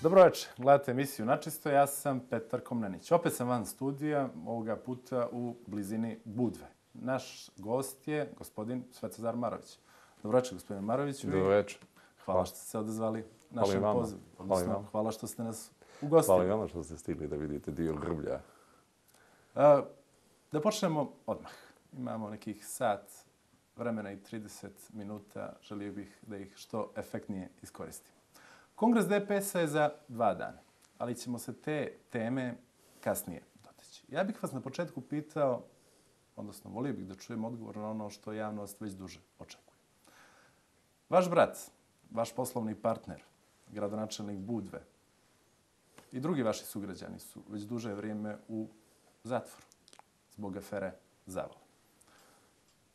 Dobro večer, gledate emisiju Načisto, ja sam Petar Komnenić. Opet sam van studija, ovoga puta u blizini Budve. Naš gost je gospodin Svetozar Marović. Dobro večer, gospodine Maroviću. Dobro večer. Hvala što ste se odazvali našem pozivu. Hvala što ste nas ugostili. Hvala i vama što ste stigli da vidite dio Grblja. Da počnemo odmah. Imamo nekih sat vremena i 30 minuta. Želio bih da ih što efektnije iskoristim. Kongres DPS-a je za 2 dana, ali ćemo se te teme kasnije doteći. Ja bih vas na početku pitao, odnosno volio bih da čujem odgovor na ono što javnost već duže očekuje. Vaš brat, vaš poslovni partner, gradonačelnik Budve i drugi vaši sugrađani su već duže vrijeme u zatvoru zbog afere Zavala.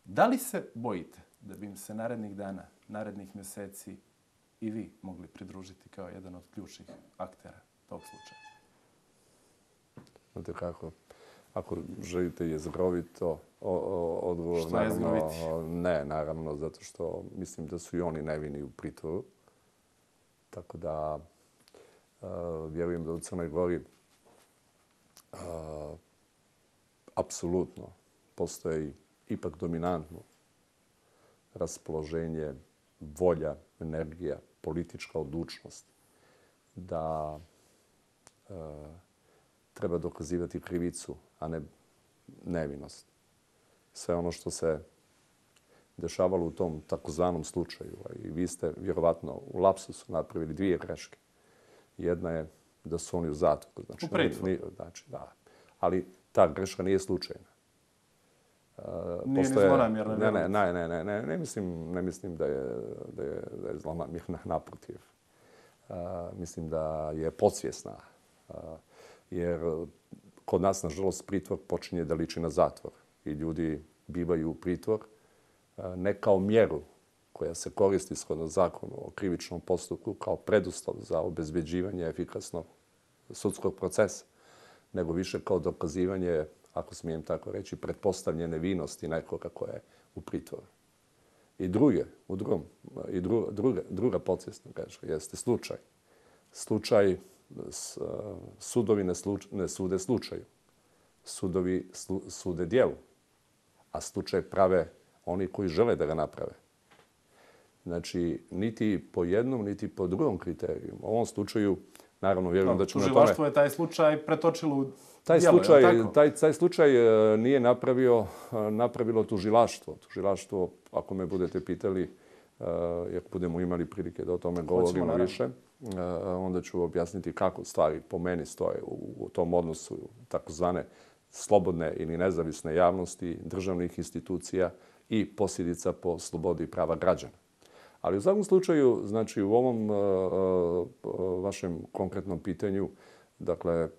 Da li se bojite da bi im se narednih dana, narednih mjeseci i vi mogli pridružiti kao jedan od ključnih aktera tog slučaja? Znate kako, ako želite jezgrovito odgovor... Što je jezgroviti? Ne, naravno, zato što mislim da su i oni nevini u pritvoru. Tako da vjerujem da u Crnoj Gori apsolutno postoji ipak dominantno raspoloženje, volja, energija, politička odlučnost da treba dokazivati krivicu, a ne nevinost. Sve ono što se dešavalo u tom takozvanom slučaju, i vi ste vjerovatno u lapsusu napravili 2 greške. Jedna je da su oni u zatvoru. U pritvoru. Da. Ali ta greška nije slučajna. Nije ni zlonamjerna. Ne mislim da je zlonamjerna, naprotiv. Mislim da je podsvjesna. Jer kod nas, nažalost, pritvor počinje da liči na zatvor. I ljudi bivaju u pritvor ne kao mjeru koja se koristi shodno zakonu o krivičnom postupku kao preduslov za obezbeđivanje efikasnog sudskog procesa, nego više kao dokazivanje, ako smijem tako reći, pretpostavljene vinosti nekoga koja je u pritvoru. I druga podsvjesna greška jeste slučaj. Slučaj, sudovi ne sude slučaju. Sudovi sude djelu, a slučaj prave oni koji žele da ga naprave. Znači, niti po jednom, niti po drugom kriteriju. U ovom slučaju, naravno, vjerujem da ćemo na tome... Tužilaštvo je taj slučaj pretočilo u Taj slučaj nije napravilo tužilaštvo. Tužilaštvo, ako me budete pitali, jer budemo imali prilike da o tome govorimo više, onda ću objasniti kako stvari po meni stoje u tom odnosu takozvane slobodne ili nezavisne javnosti, državnih institucija i posljedica po slobodi i prava građana. Ali u svakom slučaju, znači u ovom vašem konkretnom pitanju, dakle,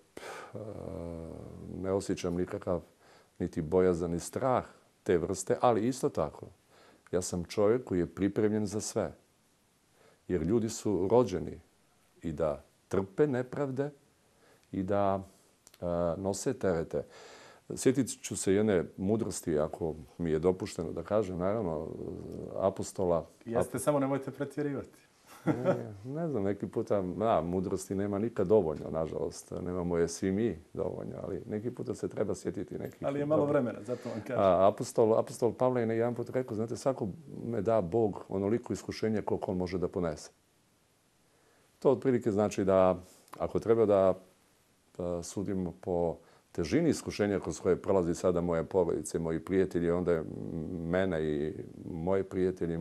ne osjećam nikakav niti bojazan ni strah te vrste, ali isto tako, ja sam čovjek koji je pripremljen za sve. Jer ljudi su rođeni i da trpe nepravde i da nose terete. Sjetit ću se jedne mudrosti, ako mi je dopušteno da kažem, naravno, apostola... Jeste, samo nemojte pretjerivati. Ne znam, neki puta mudrosti nema nikad dovoljno, nažalost. Nemamo je svi mi dovoljno, ali neki puta se treba sjetiti nekih... Ali je malo vremena, zato vam kažem. Apostol Pavle je jedan put rekao, znate, svako me da Bog onoliko iskušenja koliko on može da ponese. To otprilike znači da ako treba da sudimo po težini iskušenja kroz koje prolazi sada moje porodice, moji prijatelji, onda je mene i moje prijatelji,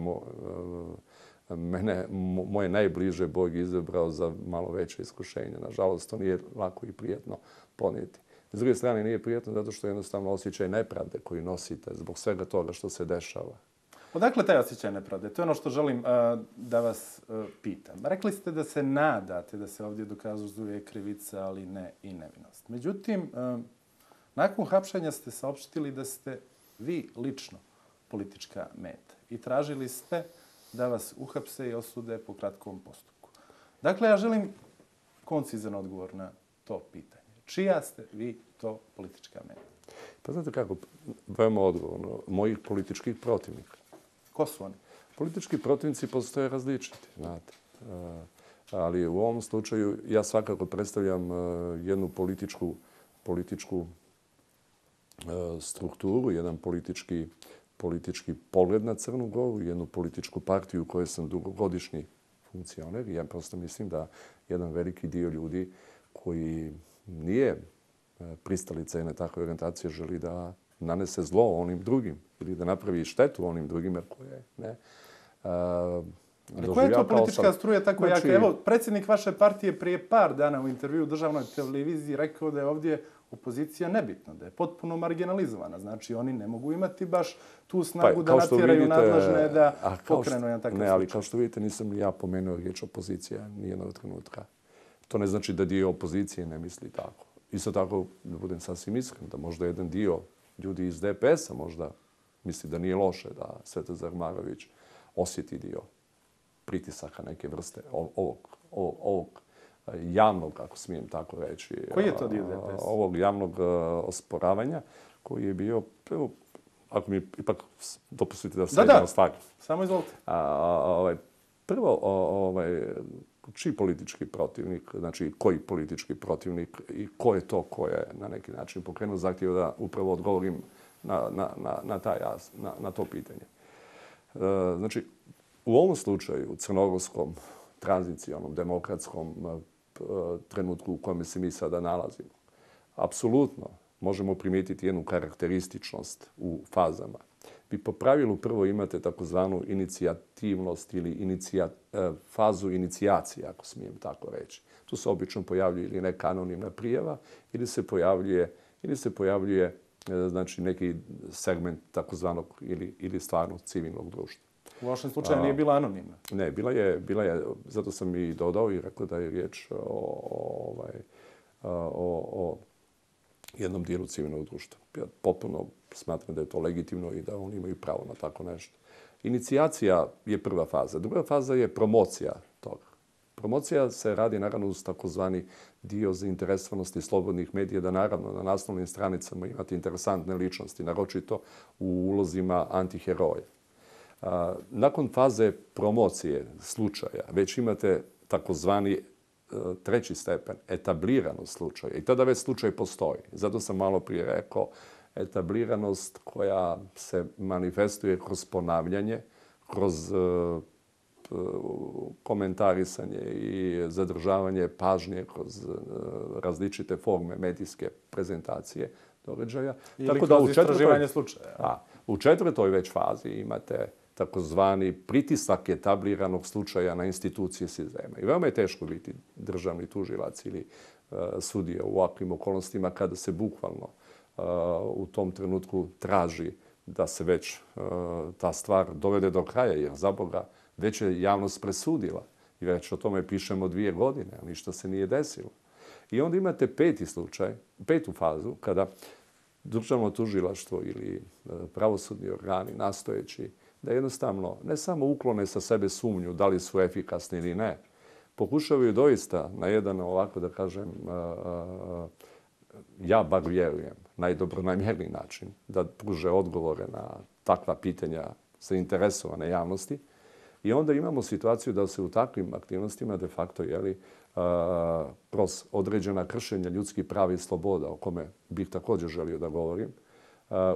moje najbliže Bog izabrao za malo veće iskušenje. Nažalost, to nije lako i prijetno ponijeti. S druge strane, nije prijetno zato što je jednostavno osjećaj nepravde koji nosite zbog svega toga što se dešava. Odakle taj osjećaj nepravde? To je ono što želim da vas pitam. Rekli ste da se nadate da se ovdje dokazuje krivica, ali ne i nevinost. Međutim, nakon hapšenja ste saopštili da ste vi lično politička meta i tražili ste da vas uhapse i osude po kratkom postupku. Dakle, ja želim koncizan odgovor na to pitanje. Čija ste vi to politička meta? Pa znate kako, veoma odgovorno, mojih političkih protivnika. Ko su oni? Politički protivnici postoje različiti, znate. Ali u ovom slučaju ja svakako predstavljam jednu političku strukturu, jedan politički pogled na Crnu Goru, jednu političku partiju u kojoj sam dugogodišnji funkcioner. Ja prosto mislim da jedan veliki dio ljudi koji nije pristalica jedne takve orijentacije želi da nanese zlo onim drugim ili da napravi štetu onim drugima koje ne. Ali koja je to politička struja tako jaka? Evo, predsjednik vaše partije prije par dana u intervju u državnoj televiziji rekao da je ovdje opozicija nebitna, da je potpuno marginalizovana. Znači, oni ne mogu imati baš tu snagu da natjeraju nadležne da pokrenu jedan takav slučaj. Ne, ali kao što vidite, nisam ja pomenuo riječ opozicija nijednog trenutka. To ne znači da dio opozicije ne misli tako. Isto tako, da budem sasvim iskren, da možda jedan dio ljudi iz DPS-a možda misli da nije loše da Svetozar Marović osjeti dio pritisaka neke vrste ovog javnog, ako smijem tako reći. Koji je to dio DPS? Ovog javnog osporavanja koji je bio, evo, ako mi ipak dopustite da se jedno stvari. Samo izvolite. Prvo, čiji politički protivnik, znači koji politički protivnik i ko je to ko je na neki način pokrenuo zahtjev da upravo odgovorim na to pitanje. Znači, u ovom slučaju, u crnogorskom, tranzicionom, demokratskom trenutku u kojem se mi sada nalazimo, apsolutno možemo primijetiti jednu karakterističnost u fazama. Vi po pravilu prvo imate takozvanu inicijativnost ili fazu inicijacije, ako smijem tako reći. Tu se obično pojavljuje ili neka anonimna prijava ili se pojavljuje znači, neki segment takozvanog ili stvarnog civilnog društva. U vašem slučaju nije bila anonimna? Ne, bila je, zato sam i dodao i rekao da je riječ o jednom dijelu civilnog društva. Ja potpuno smatram da je to legitimno i da oni imaju pravo na tako nešto. Inicijacija je prva faza. Druga faza je promocija toga. Promocija se radi naravno uz takozvani dio zainteresovanosti slobodnih medija, da naravno na naslovnim stranicama imate interesantne ličnosti, naročito u ulozima antiheroja. Nakon faze promocije slučaja već imate takozvani treći stepen, etabliranost slučaja. I tada već slučaj postoji. Zato sam malo prije rekao etabliranost koja se manifestuje kroz ponavljanje, kroz komentarisanje i zadržavanje pažnje kroz različite forme medijske prezentacije događaja. Ili kroz istraživanje slučaja. U četvrtoj već fazi imate takozvani pritisak etabliranog slučaja na institucije sistema. I veoma je teško biti državni tužilac ili sudija u ovakvim okolnostima kada se bukvalno u tom trenutku traži da se već ta stvar dovede do kraja, jer za Boga već je javnost presudila i već o tome pišemo 2 godine, a ništa se nije desilo. I onda imate peti slučaj, petu fazu, kada državno tužilaštvo ili pravosudni organi nastojeći da jednostavno ne samo uklone sa sebe sumnju da li su efikasni ili ne, pokušavaju doista na jedan ovako da kažem, ja bar vjerujem, najdobronamjerniji način da pruže odgovore na takva pitanja zainteresovane javnosti. I onda imamo situaciju da se u takvim aktivnostima de facto kroz određena kršenja ljudskih prava i sloboda, o kome bih također želio da govorim,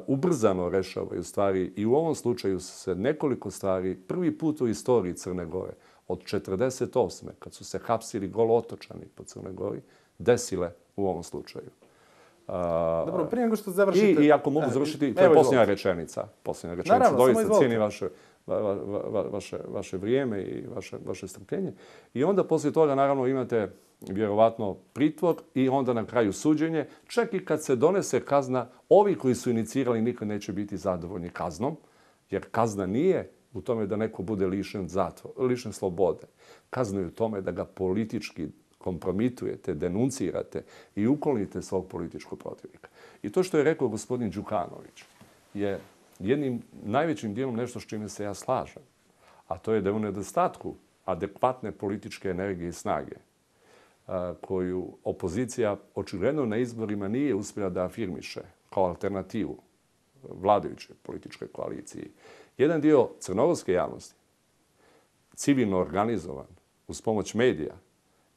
ubrzano rešavaju stvari i u ovom slučaju se nekoliko stvari prvi put u istoriji Crne Gore od 1948. kad su se hapsili golotočani po Crnoj Gori desile u ovom slučaju. Dobro, prije nego što završite... I ako mogu završiti, to je posljednja rečenica. Naravno, doista cijenim vaše vrijeme i vaše strpljenje. I onda poslije toga naravno imate vjerovatno pritvor i onda na kraju suđenje. Čak i kad se donese kazna, ovi koji su inicirali nikad neće biti zadovoljni kaznom, jer kazna nije u tome da neko bude lišen slobode. Kazna je u tome da ga politički kompromitujete, denuncirate i uklonite svog političkog protivnika. I to što je rekao gospodin Đukanović je jednim najvećim dijelom nešto s čime se ja slažem. A to je da u nedostatku adekvatne političke energije i snage koju opozicija očigledno na izborima nije uspjela da afirmiše kao alternativu vladajućoj političkoj koaliciji, jedan dio crnogorske javnosti, civilno organizovan, uz pomoć medija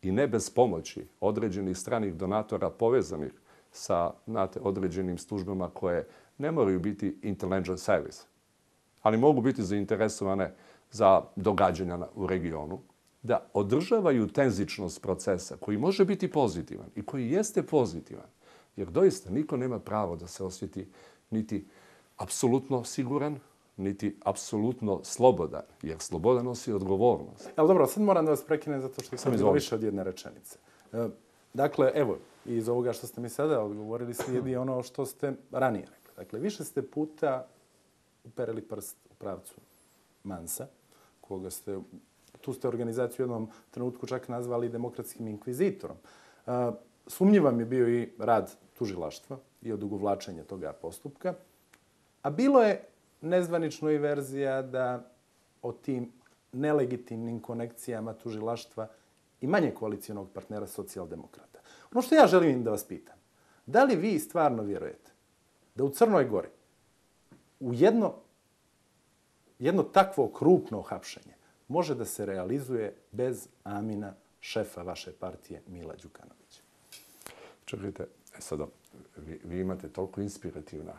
i ne bez pomoći određenih stranih donatora povezanih sa određenim službama koje ne moraju biti intelligence service, ali mogu biti zainteresovane za događanja u regionu, da održavaju tenzičnost procesa koji može biti pozitivan i koji jeste pozitivan, jer doista niko nema pravo da se osjeti niti apsolutno siguran, niti apsolutno slobodan, jer sloboda nosi odgovornost. Ali dobro, sad moram da vas prekinem zato što sam bilo više od jedne rečenice. Dakle, evo, iz ovoga što ste mi sada odgovorili slijedi ono što ste ranije rekli. Dakle, više ste puta uperili prst u pravcu Mansa, koga ste, tu ste organizaciju u jednom trenutku čak nazvali demokratskim inkvizitorom. Sumnjiv vam je bio i rad tužilaštva i odugovlačenje toga postupka, a bilo je nezvanično i verzija da o tim nelegitimnim konekcijama tužilaštva i manje koalicijonog partnera socijaldemokrata. Ono što ja želim da vas pitam, da li vi stvarno vjerujete da u Crnoj Gori u jedno takvo krupno hapšenje može da se realizuje bez amina šefa vaše partije Mila Đukanovića? Čekajte, sada, vi imate toliko inspirativna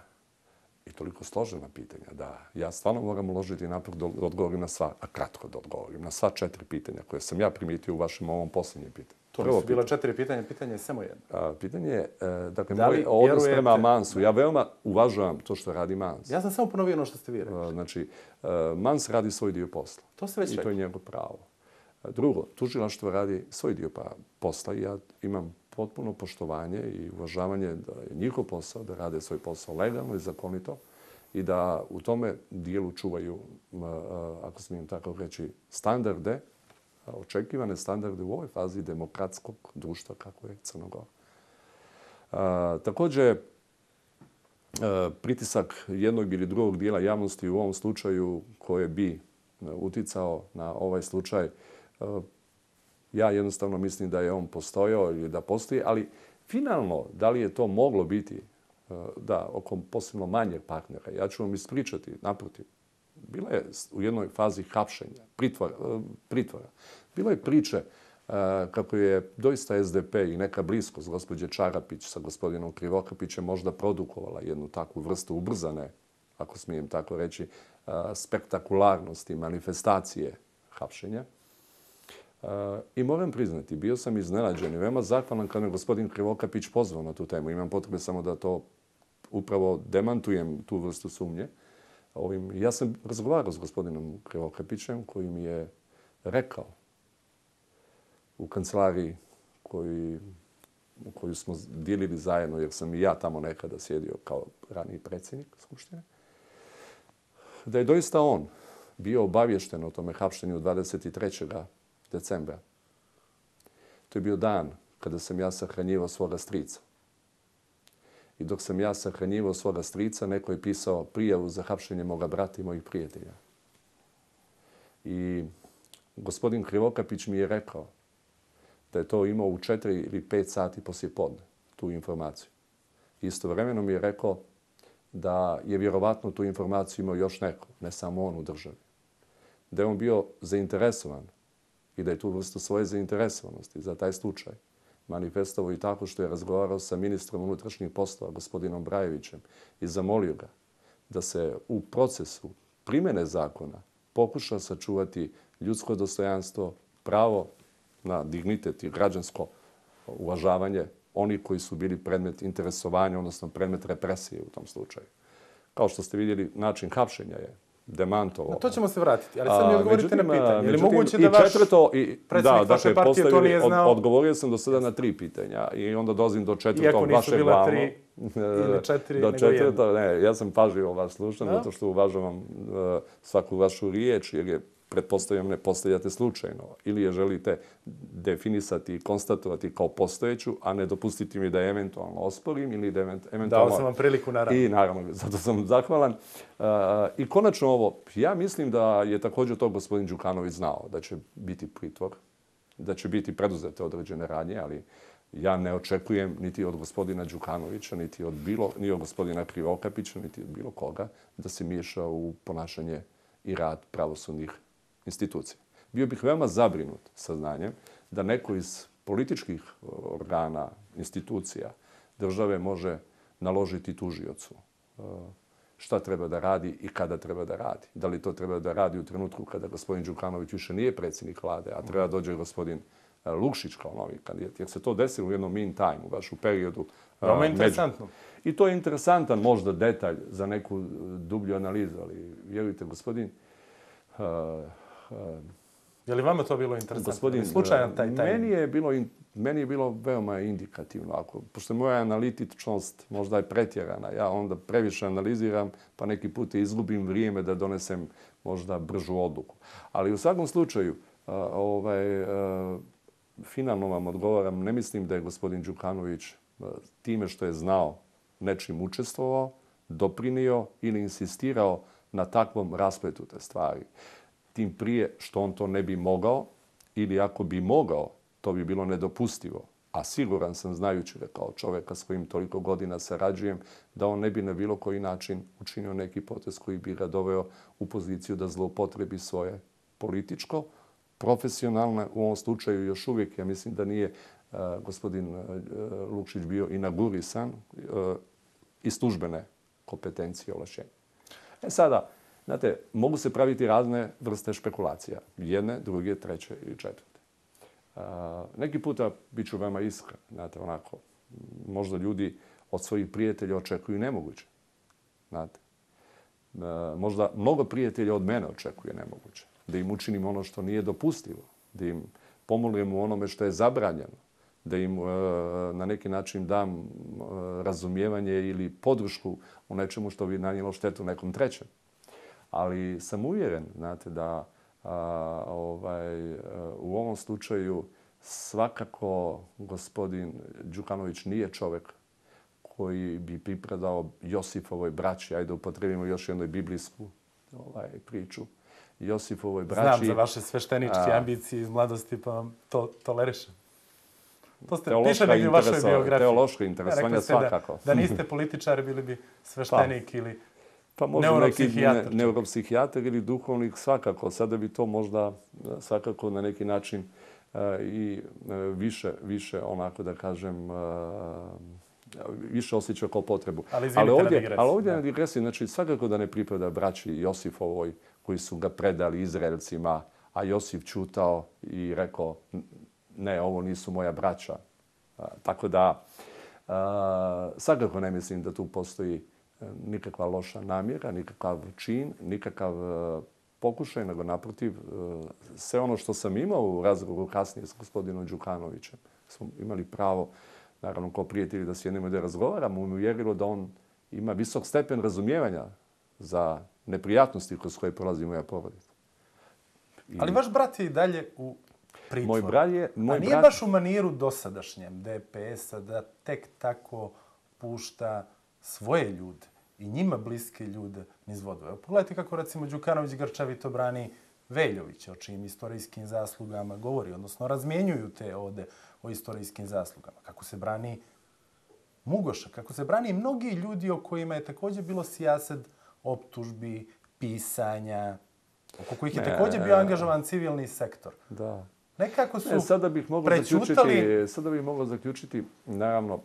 i toliko složena pitanja da ja stvarno moram uložiti napor da odgovorim na sva, a kratko da odgovorim, na sva 4 pitanja koje sam ja primijetio u vašem ovom posljednjem pitanju. To nisu bila 4 pitanja, pitanje je samo jedno. Pitanje je, dakle, moj odnos prema Mansu. Ja veoma uvažavam to što radi Mans. Ja sam samo ponovio ono što ste vi rekli. Znači, Mans radi svoj dio posla. To ste već rekli. I to je njegov pravo. Drugo, tužilaštvo radi svoj dio posla i ja imam potpuno poštovanje i uvažavanje da je njihov posao, da rade svoj posao legalno i zakonito i da u tome dijelu čuvaju, ako smijem tako reći, standarde, očekivane standarde u ovoj fazi demokratskog društva kako je Crna Gora. Također, pritisak jednog ili drugog dijela javnosti u ovom slučaju koje bi uticao na ovaj slučaj, ja jednostavno mislim da je on postojao ili da postoji, ali finalno, da li je to moglo biti da oko posebno manjeg partnera, ja ću vam ispričati, naprotiv, bila je u jednoj fazi hapšenja, pritvora. Bilo je priče kako je doista SDP i neka bliskost gospođe Čarapić sa gospodinom Krivokapićem možda produkovala jednu takvu vrstu ubrzane, ako smijem tako reći, spektakularnosti, manifestacije hapšenja. I moram priznati, bio sam iznenađen i veoma zahvalan kada me gospodin Krivokapić pozvao na tu temu. Imam potrebe samo da to upravo demantujem, tu vrstu sumnje. Ja sam razgovarao s gospodinom Krivokapićem koji mi je rekao u kancelariji koju smo dijelili zajedno, jer sam i ja tamo nekada sjedio kao raniji predsjednik Skupštine, da je doista on bio obavješten o tome hapšenju 23. decembra. To je bio dan kada sam ja sahranjivao svoga strica. I dok sam ja sahranjivao svoga strica, neko je pisao prijavu za hapšenje moga brata i mojih prijatelja. I gospodin Krivokapić mi je rekao da je to imao u 4 ili 5 sati poslije podne, tu informaciju. Istovremeno mi je rekao da je vjerovatno tu informaciju imao još neko, ne samo on u državi. Da je on bio zainteresovan i da je tu vrstu svoje zainteresovanosti za taj slučaj manifestovao i tako što je razgovarao sa ministrom unutrašnjih poslova, gospodinom Brajevićem, i zamolio ga da se u procesu primjene zakona pokuša sačuvati ljudsko dostojanstvo, pravo na dignitet i građansko uvažavanje onih koji su bili predmet interesovanja, odnosno predmet represije u tom slučaju. Kao što ste vidjeli, način hapšenja je demantovao. Na to ćemo se vratiti, ali sad mi odgovorite na pitanje. Je li moguće da vaš predsjednik vaše partije to nije znao? Odgovorio sam do sada na 3 pitanja i onda dolazim do 4. Iako nisu vašeg bila glavno. 3 ili 4, do nego 1. Ne, ja sam pažljivo vas slušan, zato što uvažavam svaku vašu riječ, jer je, pretpostavljam, ne postavljate slučajno. Ili je želite definisati i konstatovati kao postojeću, a ne dopustiti mi da je eventualno osporim ili da eventualno... Dao sam vam priliku, naravno. I naravno, zato sam zahvalan. I konačno ovo, ja mislim da je također to gospodin Đukanović znao, da će biti pritvor, da će biti preduzete određene radnje, ali Ja ne očekujem niti od gospodina Đukanovića, niti od gospodina Krivokapića, niti od bilo koga da se miješa u ponašanje i rad pravosudnih institucija. Bio bih veoma zabrinut saznanjem da neko iz političkih organa, institucija, države može naložiti tužiocu šta treba da radi i kada treba da radi. Da li to treba da radi u trenutku kada gospodin Đukanović više nije predsjednik vlade, a treba dođe gospodin Lukšić kao novi kandidat. Jer se to desilo u jednom meantime, baš u periodu. Veoma interesantno. I to je interesantan možda detalj za neku dublju analizu, ali vjerujte, gospodin... Je li vama to bilo interesantno? Slučajan taj meni je bilo veoma indikativno. Pošto je moja analitičnost možda je pretjerana, ja onda previše analiziram, pa neki put izgubim vrijeme da donesem možda bržu odluku. Ali u svakom slučaju, finalno vam odgovaram, ne mislim da je gospodin Đukanović time što je znao nečim učestvovao, doprinio ili insistirao na takvom raspletu te stvari. Tim prije što on to ne bi mogao ili ako bi mogao, to bi bilo nedopustivo. A siguran sam, znajući ga kao čovjeka s kojim toliko godina sarađujem, da on ne bi na bilo koji način učinio neki potez koji bi ga doveo u poziciju da zloupotrebi svoje političko, profesionalno, u ovom slučaju još uvijek, ja mislim da nije gospodin Lukšić bio inaugurisan i službene kompetencije i ovlašćenja. Sada, znate, mogu se praviti razne vrste špekulacija. Jedne, druge, treće ili četvrte. Neki puta bit ću veoma iskren. Znate, onako, možda ljudi od svojih prijatelja očekuju nemoguće. Znate, možda mnogo prijatelja od mene očekuje nemoguće. Da im učinim ono što nije dopustivo. Da im pomognem u onome što je zabranjeno. Da im na neki način dam razumijevanje ili podršku u nečemu što bi nanijelo štetu nekom trećem. Ali sam uvjeren, znate, da u ovom slučaju svakako gospodin Đukanović nije čovjek koji bi pripadao Josifovoj braći. Ajde, upotrebimo još jednoj biblijsku priču. Josifovoj braći... Znam za vaše svešteničke ambicije iz mladosti, pa vam to tolerišem. To ste piše negdje u vašoj biografiji. Teološko interesovanje svakako. Da niste političari, bili bi sveštenik ili pa možda neki neuropsihijatar ili duhovnik svakako. Sada bi to možda svakako na neki način i više onako da kažem više osjećao kao potrebu. Ali ovdje na digresiji, znači svakako da ne pripada braći Josifovoj koji su ga predali Izraelcima, a Josif čutao i rekao ne, ovo nisu moja braća. Tako da svakako ne mislim da tu postoji nikakva loša namjera, nikakav čin, nikakav pokušaj, nego naprotiv, sve ono što sam imao u razgovoru kasnije s gospodinom Đukanovićem, smo imali pravo, naravno kao prijatelji, da sjednemo i da razgovaramo, uvjerilo da on ima visok stepen razumijevanja za neprijatnosti kroz koje prolazi moja porodica. Ali vaš brat je i dalje u pritvoru. A nije baš u maniru dosadašnjem DPS-a da tek tako pušta svoje ljude i njima bliske ljude niz vodu. Evo, pogledajte kako, recimo, Đukanović grčavito brani Veljovića, o čijim istorijskim zaslugama govori, odnosno razmjenjuju te ode o istorijskim zaslugama. Kako se brani Mugoša, kako se brani mnogi ljudi o kojima je također bilo sijased optužbi, pisanja, oko kojih je također bio angažovan civilni sektor. Da. Nekako su sada bih mogao zaključiti, naravno,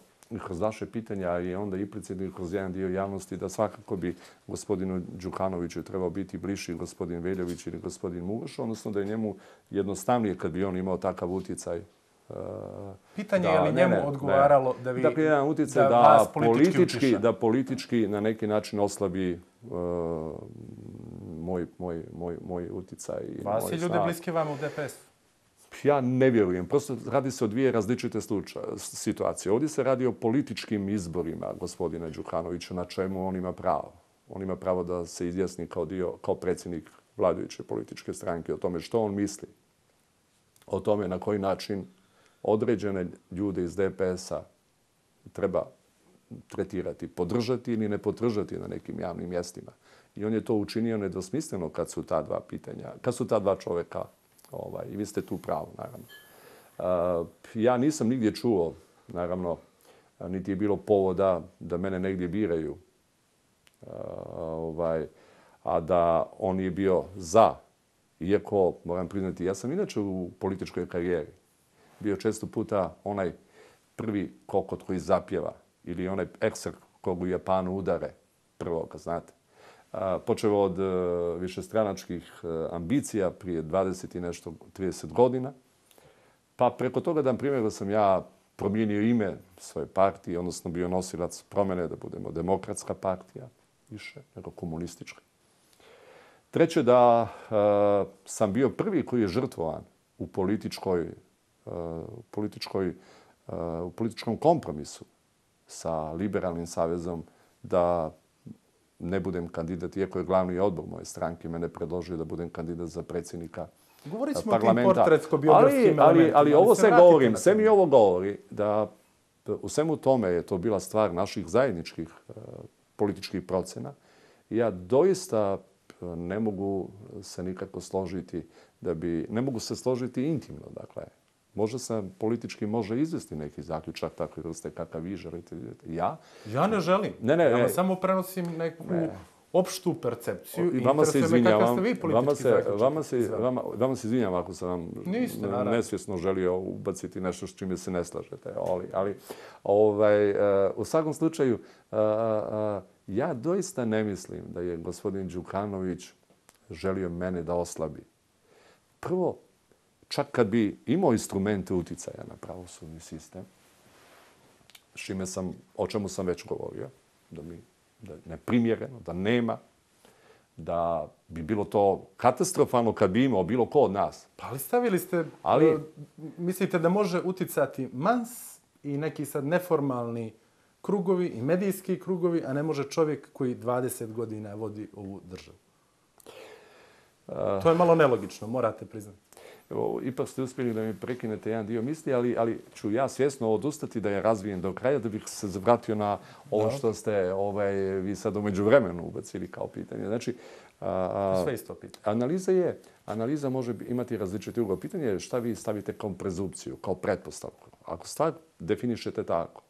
kroz vaše pitanja i onda implicitno kroz jedan dio javnosti, da svakako bi gospodinu Đukanoviću trebao biti bliži gospodin Veljović ili gospodin Mugoš, odnosno da je njemu jednostavnije kad bi on imao takav utjecaj. Pitanje je li njemu odgovaralo da vi dakle, jedan utjecaj da politički na neki način oslabi moj utjecaj. Vas je ljude bliske vama u DPS? Ja ne vjerujem. Prosto radi se o dvije različite situacije. Ovdje se radi o političkim izborima gospodina Đukanovića, na čemu on ima pravo. On ima pravo da se izjasni kao predsjednik vladajuće političke stranke o tome što on misli. O tome na koji način određene ljude iz DPS-a treba tretirati, podržati ili ne podržati na nekim javnim mjestima. I on je to učinio nedvosmisleno kad su ta dva pitanja, kad su ta dva čovjeka. I vi ste tu pravo, naravno. Ja nisam nigdje čuo Naravno, niti je bilo povoda da mene negdje biraju. A da on nije bio za. Iako, moram priznati, ja sam inače u političkoj karijeri bio često puta onaj prvi kokot koji zapjeva ili onaj ekser kog u Japanu udare prvoga, znate. Počeo od višestranačkih ambicija prije 20 i nešto, 30 godina. Pa preko toga da, na primjer, da sam ja promijenio ime svoje partije, odnosno bio nosilac promjene da budemo demokratska partija, više nego komunistička. Treće, da sam bio prvi koji je žrtvovan u političkom kompromisu sa Liberalnim savezom da ne budem kandidat, iako je glavni odbor moje stranke mene predložio da budem kandidat za predsjednika parlamenta. Govorit ćemo o tim portretsko-biografskim elementima. Ali ovo sve govorim, sve mi ovo govori da u svemu tome je to bila stvar naših zajedničkih političkih procena. Ja doista ne mogu se nikako složiti ne mogu se složiti intimno, dakle. Možda sam politički može izvesti neki zaključak takve vrste kakav vi želite. Ja ne želim. Ja vam samo prenosim neku opštu percepciju i interesuje me kakav ste vi politički zaključak. Vama se izvinjavam ako sam vam nesvjesno želio ubaciti nešto s čime se ne slažete. Ali u svakom slučaju, ja doista ne mislim da je gospodin Đukanović želio mene da oslabi. Prvo, čak kad bi imao instrumente uticaja na pravosudni sistem, o čemu sam već govorio, da je neprimjereno, da nema, da bi bilo to katastrofalno kad bi imao bilo ko od nas. Pa ali stavili ste, mislite da može uticati mans i neki sad neformalni krugovi i medijski krugovi, a ne može čovjek koji 20 godina vodi ovu državu. To je malo nelogično, morate priznati. Ipak ste uspjeli da mi prekinete jedan dio misli, ali ću ja svjesno odustati da je razvijem do kraja, da bih se vratio na ovo što ste vi sad u međuvremenu ubacili kao pitanje. Znači, sve isto pitanje. Analiza može imati različite uloge. Pitanje je šta vi stavite kao prezupciju, kao pretpostavku. Ako stvar definišete tako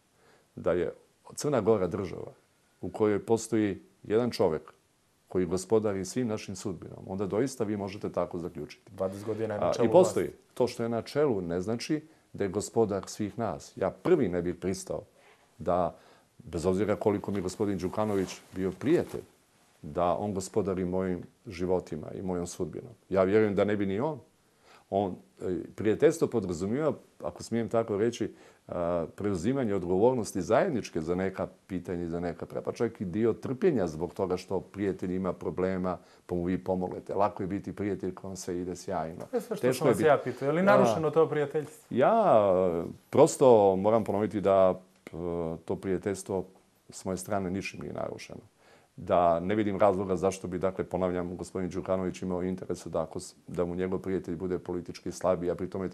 da je Crna Gora država u kojoj postoji jedan čovjek koji gospodari svim našim sudbinom, onda doista vi možete tako zaključiti. 20 godina je na čelu I postoji. To što je na čelu ne znači da je gospodar svih nas. Ja prvi ne bih pristao da, bez obzira koliko mi gospodin Đukanović bio prijatelj, da on gospodari mojim životima i mojom sudbinom. Ja vjerujem da ne bi ni on. Prijateljstvo podrazumijeva, ako smijem tako reći, preuzimanje odgovornosti zajedničke za neka pitanja i za neka pa čak i dio trpljenja zbog toga što prijatelj ima problema, pa mu vi pomoglete. Lako je biti prijatelj kad vam sve ide sjajno. Sve što sam vas ja pitao, je li narušeno to prijateljstvo? Ja prosto moram ponoviti da to prijateljstvo s moje strane ničim nije narušeno. Da ne vidim razloga zašto bi, dakle, ponavljam, gospodin Đukanović imao interesu da mu njegov prijatelj bude politički slabiji, a pri tome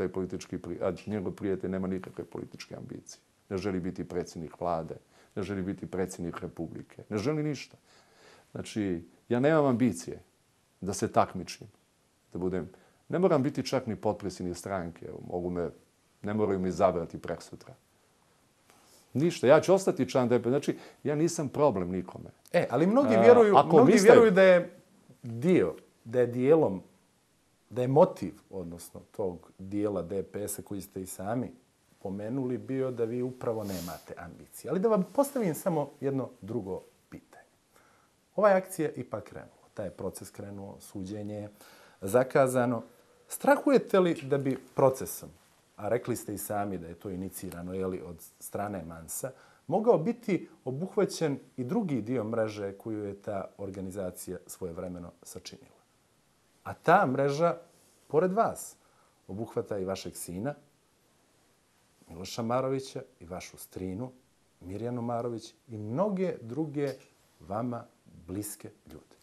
njegov prijatelj nema nikakve političke ambicije. Ne želi biti predsjednik vlade, ne želi biti predsjednik republike, ne želi ništa. Znači, ja nemam ambicije da se takmičim, ne moram biti čak ni potpredsjednik stranke, ne moraju mi izabrati prekosutra. Ništa. Ja ću ostati član DP. Znači, ja nisam problem nikome. Ali mnogi vjeruju da je motiv, odnosno tog dijela DPS-a koji ste i sami pomenuli, bio da vi upravo nemate ambicije. Ali da vam postavim samo jedno drugo pitanje. Ova akcija je ipak krenula. Taj je proces krenuo, suđenje je zakazano. Strahujete li da bi procesom, a rekli ste i sami da je to inicirano od strane Mansa, mogao biti obuhvaćen i drugi dio mreže koju je ta organizacija svojevremeno sačinila? A ta mreža, pored vas, obuhvata i vašeg sina, Miloša Marovića, i vašu strinu, Mirjanu Marović, i mnoge druge vama bliske ljude.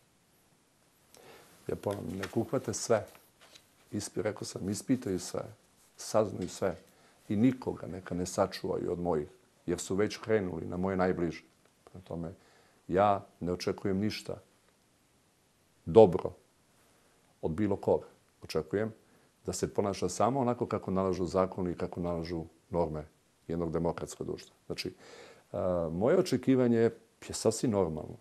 Ja ponavljam, nek uhvate sve. Rekao sam, ispitaju sve. Saznaju sve i nikoga neka ne sačuvaju od mojih, jer su već krenuli na moje najbliže. Prema tome, ja ne očekujem ništa dobro od bilo koga. Očekujem da se ponaša samo onako kako nalažu zakoni i kako nalažu norme jednog demokratskog društva. Znači, moje očekivanje je sasvim normalno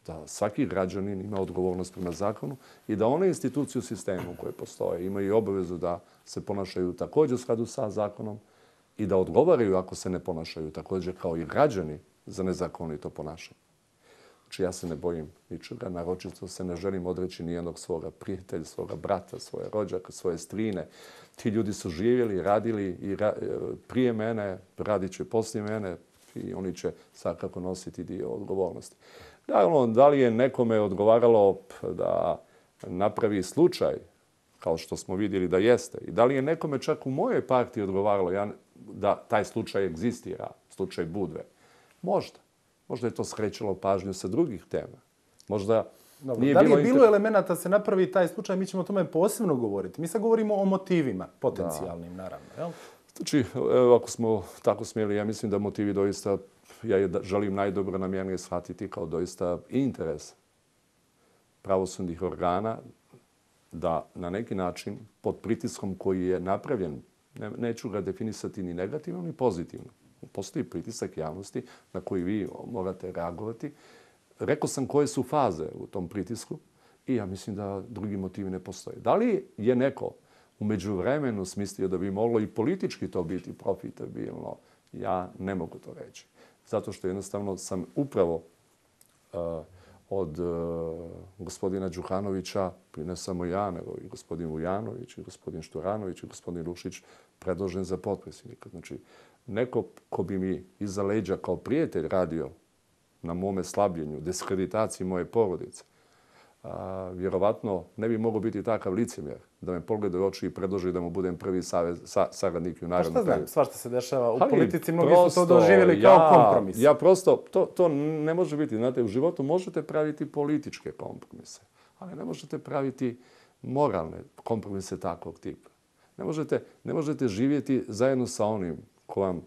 da svaki građanin ima odgovornost prema zakonu i da one institucije u sistemu koje postoje imaju obavezu da se ponašaju također u skladu sa zakonom i da odgovaraju ako se ne ponašaju također kao i građani za nezakonito ponašanje. Znači, ja se ne bojim ničega, naročito se ne želim odreći nijednog svoga prijatelja, svoga brata, svoje rođaka, svoje strine. Ti ljudi su živjeli, radili i prije mene, radit će poslije mene i oni će svakako nositi dio odgovornosti. Da li je nekome odgovaralo da napravi slučaj, kao što smo vidjeli da jeste, i da li je nekome čak u mojoj partiji odgovaralo da taj slučaj egzistira, slučaj Budve? Možda. Možda je to skrećalo pažnju sa drugih tema. Možda nije da li je bilo elemenata da se napravi taj slučaj, mi ćemo o tome posebno govoriti. Mi sad govorimo o motivima, potencijalnim, naravno. Jel? Znači, ako smo tako smjeli, ja mislim da motivi doista, ja želim najdobronamjernije shvatiti kao doista interes pravosudnih organa da na neki način pod pritiskom koji je napravljen, neću ga definisati ni negativno ni pozitivno. Postoji pritisak javnosti na koji vi morate reagovati. Rekao sam koje su faze u tom pritisku i ja mislim da drugi motivi ne postoje. Da li je neko u međuvremenu smislio da bi moglo i politički to biti profitabilno? Ja ne mogu to reći. Zato što jednostavno sam upravo od gospodina Đukanovića, ne samo ja, nego i gospodin Vujanović, i gospodin Šturanović, i gospodin Lušić predložen za potpredsjednika. Znači, neko ko bi mi iza leđa kao prijatelj radio na mome slabljenju, diskreditaciji moje porodice, vjerovatno ne bi mogao biti takav licemjer da me pogleda u oči i predloži da mu budem prvi saradnik u narednom periodu. Pa šta znam, svašta se dešava u politici, mnogi su to doživjeli kao kompromis. Ja prosto, to ne može biti. Znate, u životu možete praviti političke kompromise, ali ne možete praviti moralne kompromise takvog tipa. Ne možete živjeti zajedno sa onim ko vam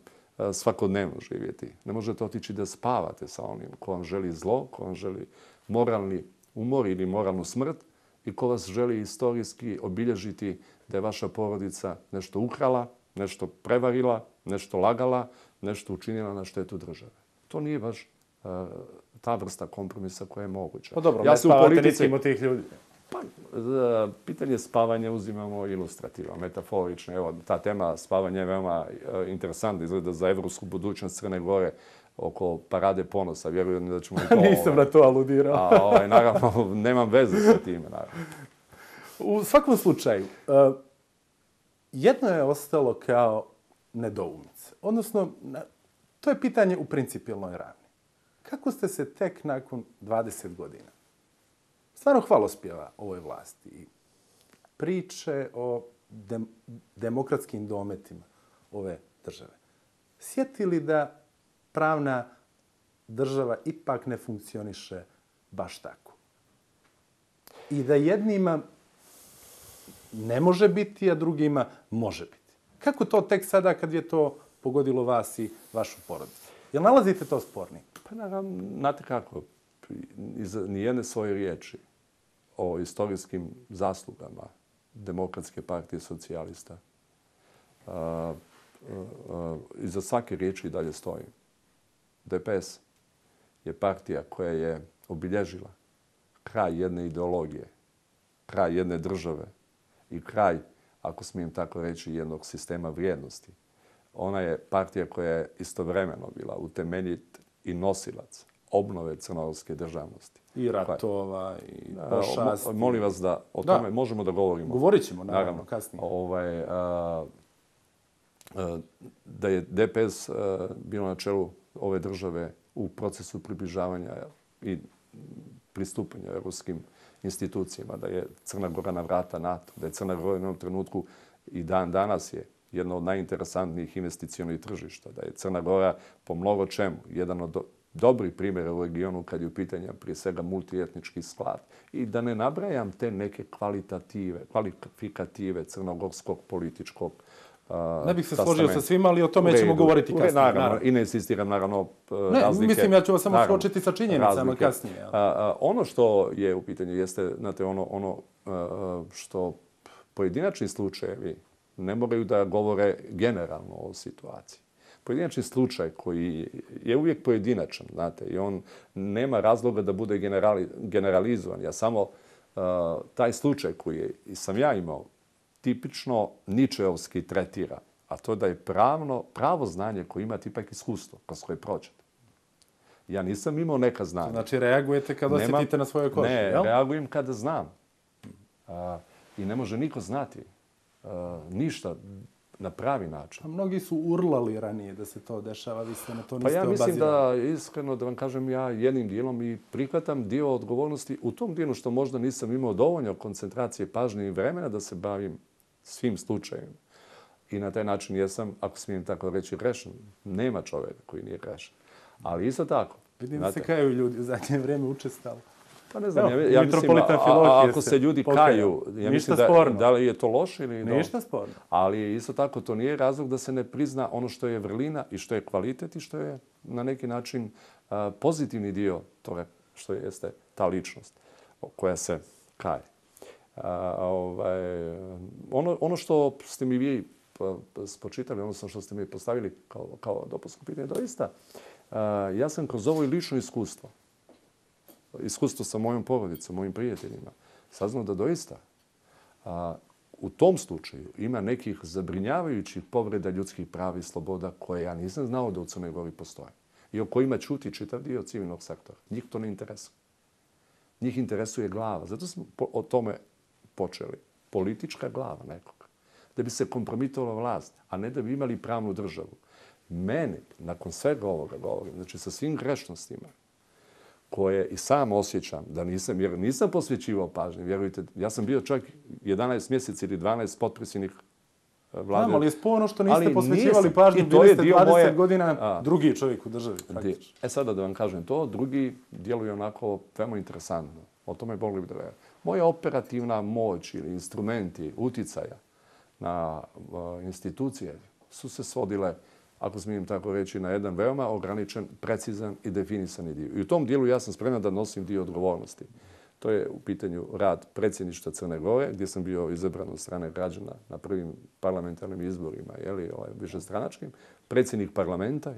svakodnevno živjeti. Ne možete otići da spavate sa onim ko vam želi zlo, ko vam želi moralni umor ili moralnu smrt i ko vas želi istorijski obilježiti da je vaša porodica nešto ukrala, nešto prevarila, nešto lagala, nešto učinila na štetu države. To nije baš ta vrsta kompromisa koja je moguća. Pa dobro, ne spavate nikim od tih ljudi. Pa, pitanje spavanja uzimamo ilustrativno, metaforično. Evo, ta tema spavanja je veoma interesantna. Izgleda za evropsku budućnost Crne Gore oko parade ponosa. Vjerujem da ćemo i to... Nisam na to aludirao. Naravno, nemam veze sa time. Naravno. U svakom slučaju, jedno je ostalo kao nedoumica. Odnosno, to je pitanje u principijelnoj ravni. Kako ste se tek nakon 20 godina stvarno hvalospjeva ovoj vlasti i priče o demokratskim dometima ove države sjetili da pravna država ipak ne funkcioniše baš tako? I da jednima ne može biti, a drugima može biti. Kako to tek sada kad je to pogodilo vas i vašu porodicu? Jel nalazite to spornim? Pa naravno, znate kako, iz nijedne svoje riječi o istorijskim zaslugama Demokratske partije socijalista iza svake riječi i dalje stojim. DPS je partija koja je obilježila kraj jedne ideologije, kraj jedne države i kraj, ako smijem tako reći, jednog sistema vrijednosti. Ona je partija koja je istovremeno bila utemeljit i nosilac obnove crnogorske državnosti. I ratova, i pošasti. Molim vas da o tome možemo da govorimo. Govorit ćemo, naravno, kasnije. Da je DPS bilo na čelu ove države u procesu približavanja i pristupanja europskim institucijama, da je Crna Gora na vrata NATO, da je Crna Gora u jednom trenutku i dan danas je jedno od najinteresantnijih investicionih tržišta, da je Crna Gora po mnogo čemu jedan od dobrih primjera u regionu kad je u pitanju prije svega multietnički sklad. I da ne nabrajam te neke kvalifikative crnogorskog političkog ne bih se složio sa svima, ali o tome ćemo govoriti kasnije. Naravno, i ne insistiram, naravno, razlike. Mislim, ja ću vas samo suočiti sa činjenicama kasnije. Ono što je u pitanju jeste, znate, ono što pojedinačni slučajevi ne moraju da govore generalno o situaciji. pojedinačni slučaj koji je uvijek pojedinačan, znate, i on nema razloga da bude generalizovan. Ja samo taj slučaj koji sam ja imao tipično ničeovski tretira, a to da je pravo znanje koje imate ipak iskustvo kroz koje prođete. Ja nisam imao neka znanja. Znači reagujete kad osjetite na svojoj koži, ne, jel? reagujem kada znam. I ne može niko znati ništa na pravi način. A mnogi su urlali ranije da se to dešava, vi ste na to niste ja mislim obazirali. da, iskreno da vam kažem, ja jednim dijelom i prihvatam dio odgovornosti u tom dijelu što možda nisam imao dovoljno koncentracije, pažnje i vremena da se bavim svim slučajima. I na taj način jesam, ako smijem tako reći, grešan. Nema čovjeka koji nije grešan. Ali isto tako. Vidim da se kaju ljudi u zadnje vrijeme učestalo. Pa ne znam, ja mislim, ako se ljudi kaju, ja mislim da li je to loše ili dobro. Ništa sporno. Ali isto tako to nije razlog da se ne prizna ono što je vrlina i što je kvalitet i što je na neki način pozitivni dio toga što jeste ta ličnost koja se kaje. Ono što ste mi vi spočitali, odnosno što ste mi postavili kao dopunsko pitanje, doista, ja sam kroz ovo i lično iskustvo sa mojom porodicom, mojim prijateljima, saznao da doista u tom slučaju ima nekih zabrinjavajućih povreda ljudskih prava i sloboda koje ja nisam znao da u Crnoj Gori postoje i o kojima ćuti čitav dio civilnog sektora. Njih to ne interesuje. Njih interesuje glava. Zato smo o tome počeli. Politička glava nekog. Da bi se kompromitovala vlast, a ne da bi imali pravnu državu. Mene, nakon svega ovoga govorim, znači sa svim grešnostima, koje i sam osjećam da nisam, jer nisam posvećivao pažnje, vjerujte, ja sam bio čak 11 mjeseci ili 12 potpredsjednik vlade. Znam, ali je sporno što niste posvećivali pažnju, bili ste 20 godina drugi čovjek u državi, praktično. Sada da vam kažem to, drugi djeluje onako veoma interesantno. O tome mogli bi da verujem. Moja operativna moć ili instrumenti uticaja na institucije su se svodile, ako smijem tako reći, na jedan veoma ograničen, precizan i definisani dio. I u tom dijelu ja sam spreman da nosim dio odgovornosti. To je u pitanju rad predsjedništva Crne Gore, gdje sam bio izabran od strane građana na prvim parlamentarnim izborima, višestranačkim, predsjednik parlamenta,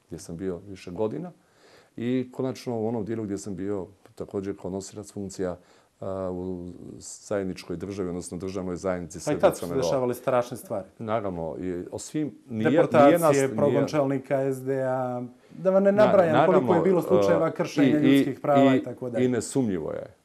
gdje sam bio više godina, i konačno u onom dijelu gdje sam bio također kao nosilac funkcija u zajedničkoj državi, odnosno državnoj zajednici Srbije. Pa i tad su se dešavali strašne stvari. Naravno, o svim... Deportacije, progon čelnika SDA, da vam ne nabrajam koliko je bilo slučajeva kršenja ljudskih prava i tako dalje.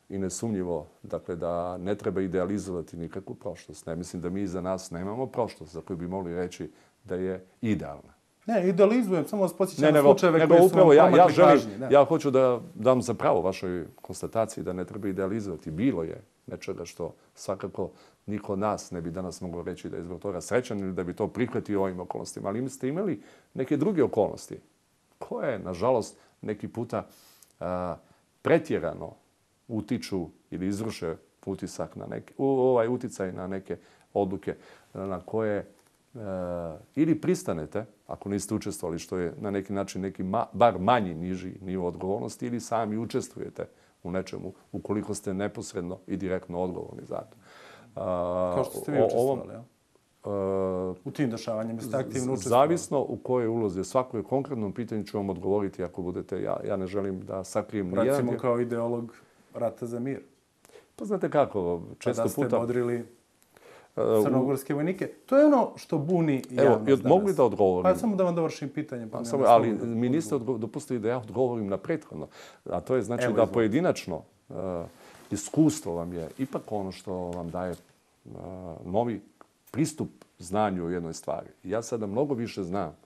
I nesumnjivo, dakle, da ne treba idealizovati nikakvu prošlost. Ne mislim da mi za nas nemamo prošlost za koju bi mogli reći da je idealna. Ne, idealizujem, samo vas podsjećam na slučajeve koje su vam promakli pažnji. Ja hoću da dam za pravo vašoj konstataciji da ne treba idealizovati. Bilo je nečega što svakako niko od nas ne bi danas mogao reći da je zbog toga srećan ili da bi to prihvatio u ovim okolnostima. Ali ste imali neke druge okolnosti koje, nažalost, neki puta pretjerano utiču ili izvrše uticaj na neke odluke na koje ili pristanete, ako niste učestvovali, što je na neki način neki bar manji, niži nivo odgovornosti, ili sami učestvujete u nečemu, ukoliko ste neposredno i direktno odgovorni za to. Kao što ste vi učestvovali, ja? U tim dešavanjima ste aktivno učestvovali? Zavisno u kojoj ulozi. Svako konkretnom pitanju ću vam odgovoriti ako budete. Ja ne želim da sakrijem nijedan. Recimo kao ideolog rata za mir. Pa znate kako, često puta... Da ste bodrili crnogorske vojnike. To je ono što buni javnost danas. Mogu li da odgovorim? Pa samo da vam dovršim pitanje. Ali mi niste dopustili da ja odgovorim na prethodno. A to je znači da pojedinačno iskustvo vam je ipak ono što vam daje novi pristup znanju o jednoj stvari. Ja sada mnogo više znam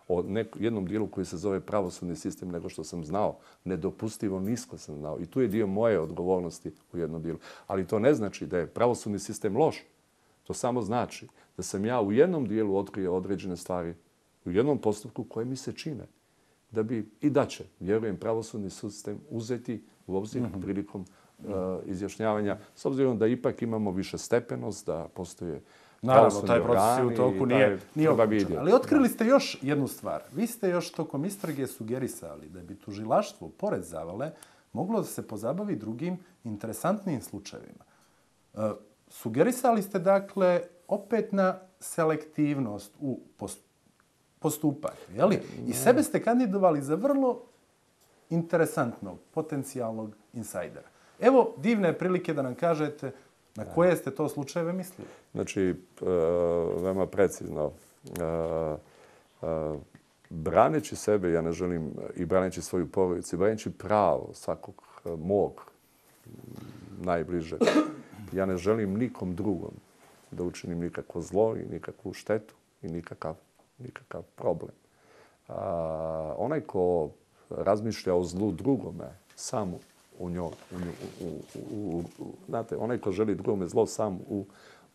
o jednom dijelu koji se zove pravosudni sistem nego što sam znao. Nedopustivo nisko sam znao. I tu je dio moje odgovornosti u jednom dijelu. Ali to ne znači da je pravosudni sistem loš. To samo znači da sam ja u jednom dijelu otkrio određene stvari, u jednom postupku koje mi se čine. Da bi i da će, vjerujem, pravosudni sistem uzeti u obzir prilikom izjašnjavanja, s obzirom da ipak imamo više stepenost, da postoje pravosudni organi. Naravno, taj proces u toku nije okončan. Ali otkrili ste još jednu stvar. Vi ste još tokom istrage sugerisali da bi tužilaštvo, pored Zavale, moglo da se pozabavi drugim interesantnim slučajevima. Sugerisali ste, dakle, opet na selektivnost u postupate. Jeli? I sebe ste kandidovali za vrlo interesantnog, potencijalnog insajdera. Evo divne prilike da nam kažete na koje ste to slučajeve mislili. Znači, veoma precizno. Braneći sebe, ja ne želim, i braneći svoju porodicu, i braneći pravo svakog mog najbližeg, ja ne želim nikom drugom da učinim nikakvo zlo i nikakvu štetu i nikakav problem. Onaj ko razmišlja o zlu drugome, samo u njoj, znate, onaj ko želi drugome zlo, sam u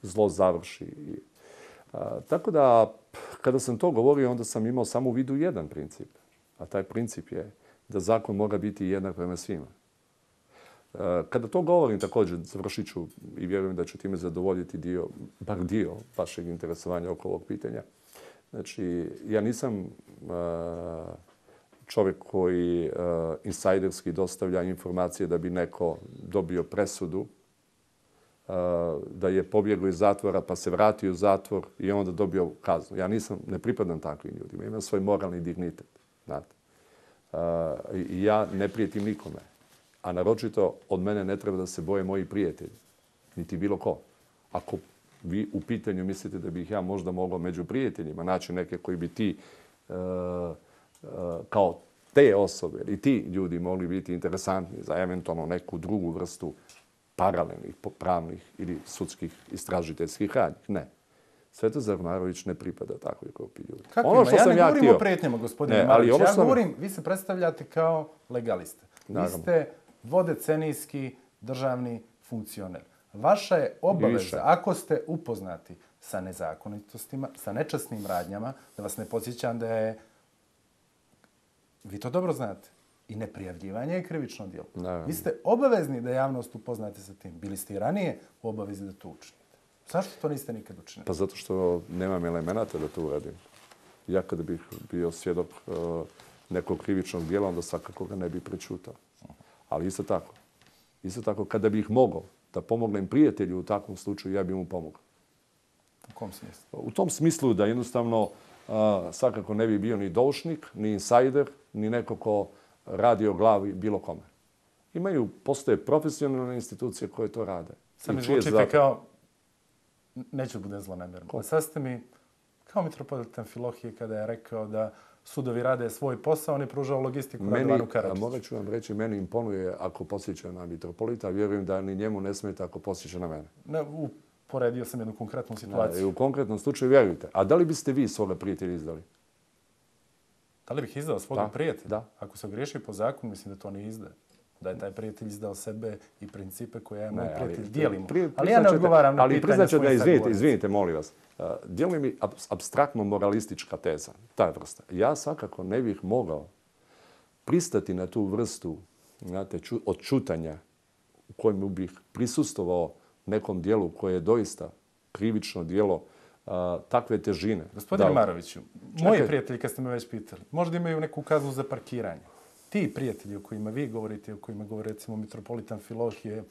zlo završi. Tako da, kada sam to govorio, onda sam imao samo u vidu jedan princip. A taj princip je da zakon mora biti jednak prema svima. Kada to govorim, također, završit ću i vjerujem da ću time zadovoljiti bar dio vašeg interesovanja oko ovog pitanja. Znači, ja nisam čovjek koji insajderski dostavlja informacije da bi neko dobio presudu, da je pobjegao iz zatvora pa se vratio u zatvor i onda dobio kaznu. Ja ne pripadam takvim ljudima. Imam svoj moralni dignitet. Znate. I ja ne prijetim nikome. A naročito od mene ne treba da se boje moji prijatelji. Niti bilo ko. Ako vi u pitanju mislite da bih ja možda mogao među prijateljima naći neke koji bi ti kao te osobe i ti ljudi mogli biti interesantni za eventualno neku drugu vrstu paralelnih, pravnih ili sudskih istražiteljskih radnji. Ne. Svetozar Marović ne pripada takvoj grupi ljudi. Kako ono što ja ne govorim o prijetnjama, gospodine Marović. Ja govorim, vi se predstavljate kao legaliste. Vi ste dvodecenijski državni funkcioner. Vaša je obaveza, ako ste upoznati sa nezakonitostima, sa nečasnim radnjama, da vas ne podsjećam da je, vi to dobro znate, i neprijavljivanje je krivično djelo. Vi ste obavezni da javnost upoznate sa tim. Bili ste i ranije u obavezi da to učinite. Zašto to niste nikad učinili? Pa zato što nemam elemenata da to uradim. Ja kada bih bio svjedok nekog krivičnog djela, onda svakako ga ne bih prečutao. Ali isto tako, kada bih mogao da pomognem prijatelju u takvom slučaju, ja bih mu pomogao. U kom smislu? U tom smislu da jednostavno svakako ne bi bio ni doušnik, ni insajder, ni neko ko radi o glavi bilo kome. Postoje profesionalne institucije koje to rade. Sad mi zvučite kao, neću da budem zlonamjeran, sad ste mi kao mitropolitan Filohije kada je rekao da sudovi rade svoj posao, on je pružao logistiku Radovanu Karadžiću. Morat ću vam reći, meni imponuje ako posjeća na mitropolita, a vjerujem da ni njemu ne smeta ako posjeća na mene. Poredio sam jednu konkretnu situaciju. U konkretnom slučaju vjerujte. A da li biste vi svoga prijatelja izdali? Da li bih izdao svoga prijatelja? Da. Ako se ogriješi po zakonu, mislim da to ne izdaje. Da je taj prijatelj izdao sebe i principe koje ja moj prijatelj dijelimo. Ali ja ne odgovaram na pitanje s kojim sad govorim. Izvinite, molim vas. Djeluje mi apstraktno moralistička teza, ta vrsta. Ja svakako ne bih mogao pristati na tu vrstu odčutanja u kojem bih prisustvovao nekom dijelu koje je doista krivično dijelo takve težine. Gospodine Maroviću, moji prijatelji, kad ste me već pitali, možda imaju neku kaznu za parkiranje. Ti prijatelji o kojima vi govorite, o kojima govori recimo mitropolitan Filohije,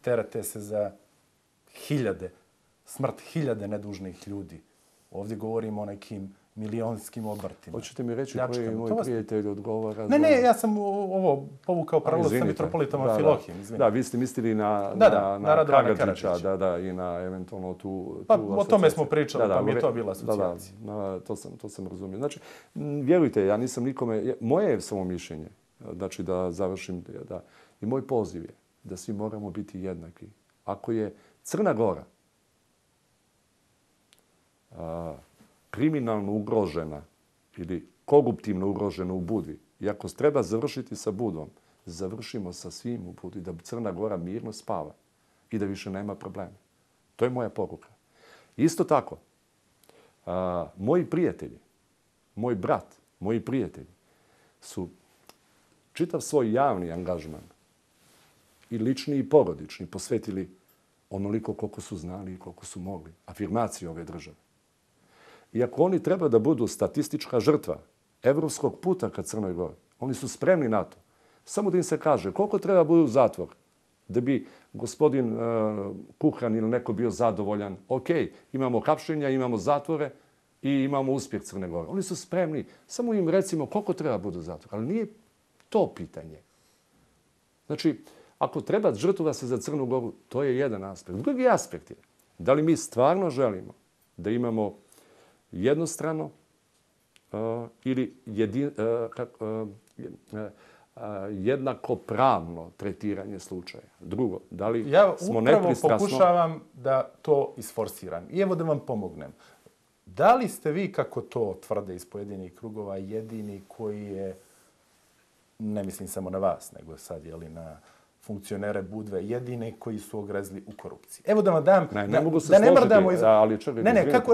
terate se za smrt hiljade nedužnih ljudi. Ovdje govorimo o nekim milionskim obrtima. Hoćete mi reći koji moj prijatelj odgovara? Ne, ja sam ovo povukao paralelu sa mitropolitom Filohijem. Da, vi ste mislili na Karadžića, i na eventualno tu o tome smo pričali, pa mi je to bila asocijacija. To sam razumio. Znači, vjerujte, ja nisam nikome, moje je samo mišljenje, znači da završim, i moj poziv je da svi moramo biti jednaki. Ako je Crna Gora kriminalno ugrožena ili koruptivno ugrožena u Budvi, i ako treba završiti sa Budvom, završimo sa svim u Budvi, da Crna Gora mirno spava i da više nema problema. To je moja poruka. Isto tako, moji prijatelji, moj brat, moji prijatelji su čitav svoj javni angažman i lični i porodični posvetili onoliko koliko su znali i koliko su mogli afirmaciji ove države. I ako oni treba da budu statistička žrtva evropskog puta ka Crnoj Gori, oni su spremni na to. Samo da im se kaže koliko treba budu u zatvor da bi gospodin Kukan ili neko bio zadovoljan. Ok, imamo hapšenja, imamo zatvore, i imamo uspjeh Crne Gore. Oni su spremni. Samo im recimo koliko treba budu zatvora. Ali nije to pitanje. Znači, ako treba žrtvovati se za Crnu Goru, to je jedan aspekt. Drugi aspekt je da li mi stvarno želimo da imamo jednostrano ili jednakopravno tretiranje slučaja. Drugo, da li smo nepristrasno... Ja upravo pokušavam da to isforsiram. I evo da vam pomognem. Da li ste vi, kako to tvrde iz pojedinih krugova, jedini koji je, ne mislim samo na vas, nego sad na funkcionere Budve, jedine koji su ogrezli u korupciji? Evo da vam dam... Ne mogu se složiti, ali čekaj...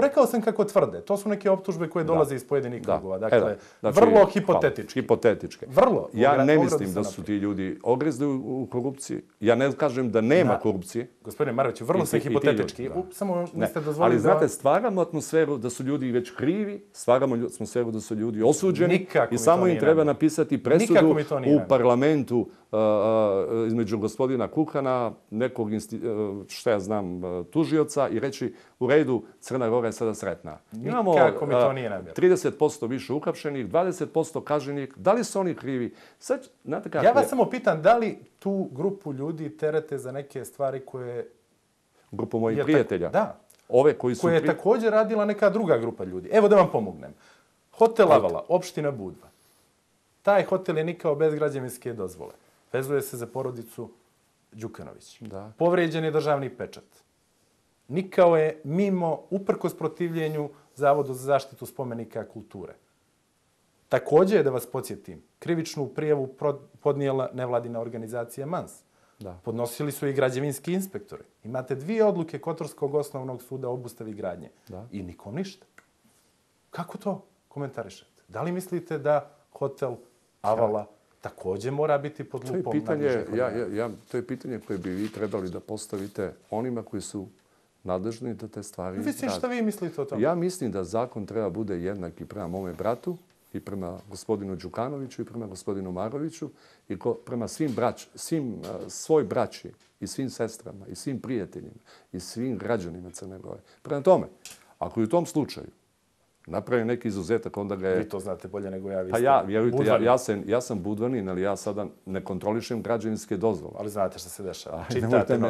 Rekao sam kako tvrde. To su neke optužbe koje dolaze iz pojedinih krugova. Dakle, vrlo hipotetički. Hipotetičke. Vrlo. Ja ne mislim da su ti ljudi ogrezli u korupciji. Ja ne kažem da nema korupcije. Gospodine Maroviću, vrlo sam hipotetički. Samo niste dozvolili ali znate, stvaramo atmosferu da su ljudi već krivi, stvaramo atmosferu da su ljudi osuđeni i samo im treba napisati presudu u parlamentu između gospodina Kukana, nekog, šta ja znam, tužioca i reći u redu, Crna Gora je sada sretna. Imamo 30% više uhapšenih, 20% kažnjenih. Da li su oni krivi? Sad, znate kako ja vas samo pitam, da li tu grupu ljudi terete za neke stvari koje... Grupu mojih prijatelja? Da. Ove koji su... Koje je također radila neka druga grupa ljudi. Evo da vam pomognem. Hotel Avala, opština Budva. Taj hotel je nikao bez građevinske dozvole. Vezuje se za porodicu Đukanović. Povrijeđen je državni pečat. Nikao je mimo, uprkos protivljenju Zavodu za zaštitu spomenika kulture. Također je, da vas podsjetim, krivičnu prijavu podnijela nevladina organizacija MANS. Podnosili su i građevinski inspektori. Imate 2 odluke Kotorskog osnovnog suda o obustavi gradnje. I nikom ništa. Kako to komentarišete? Da li mislite da hotel Avala također mora biti pod lupom? To je pitanje koje bi vi trebali da postavite onima koji su nadležni da te stvari rade. Šta vi mislite o tome? Ja mislim da zakon treba bude jednak i prema mome bratu, i prema gospodinu Đukanoviću, i prema gospodinu Maroviću, i prema svoj braći, i svim sestrama, i svim prijateljima, i svim građanima Crne Gore. Prema tome, ako i u tom slučaju napravi neki izuzetak, onda ga je... Vi to znate bolje nego ja. Pa vjerujte, ja sam budvanin, ali ja sada ne kontrolišem građevinske dozvole. Ali znate što se dešava.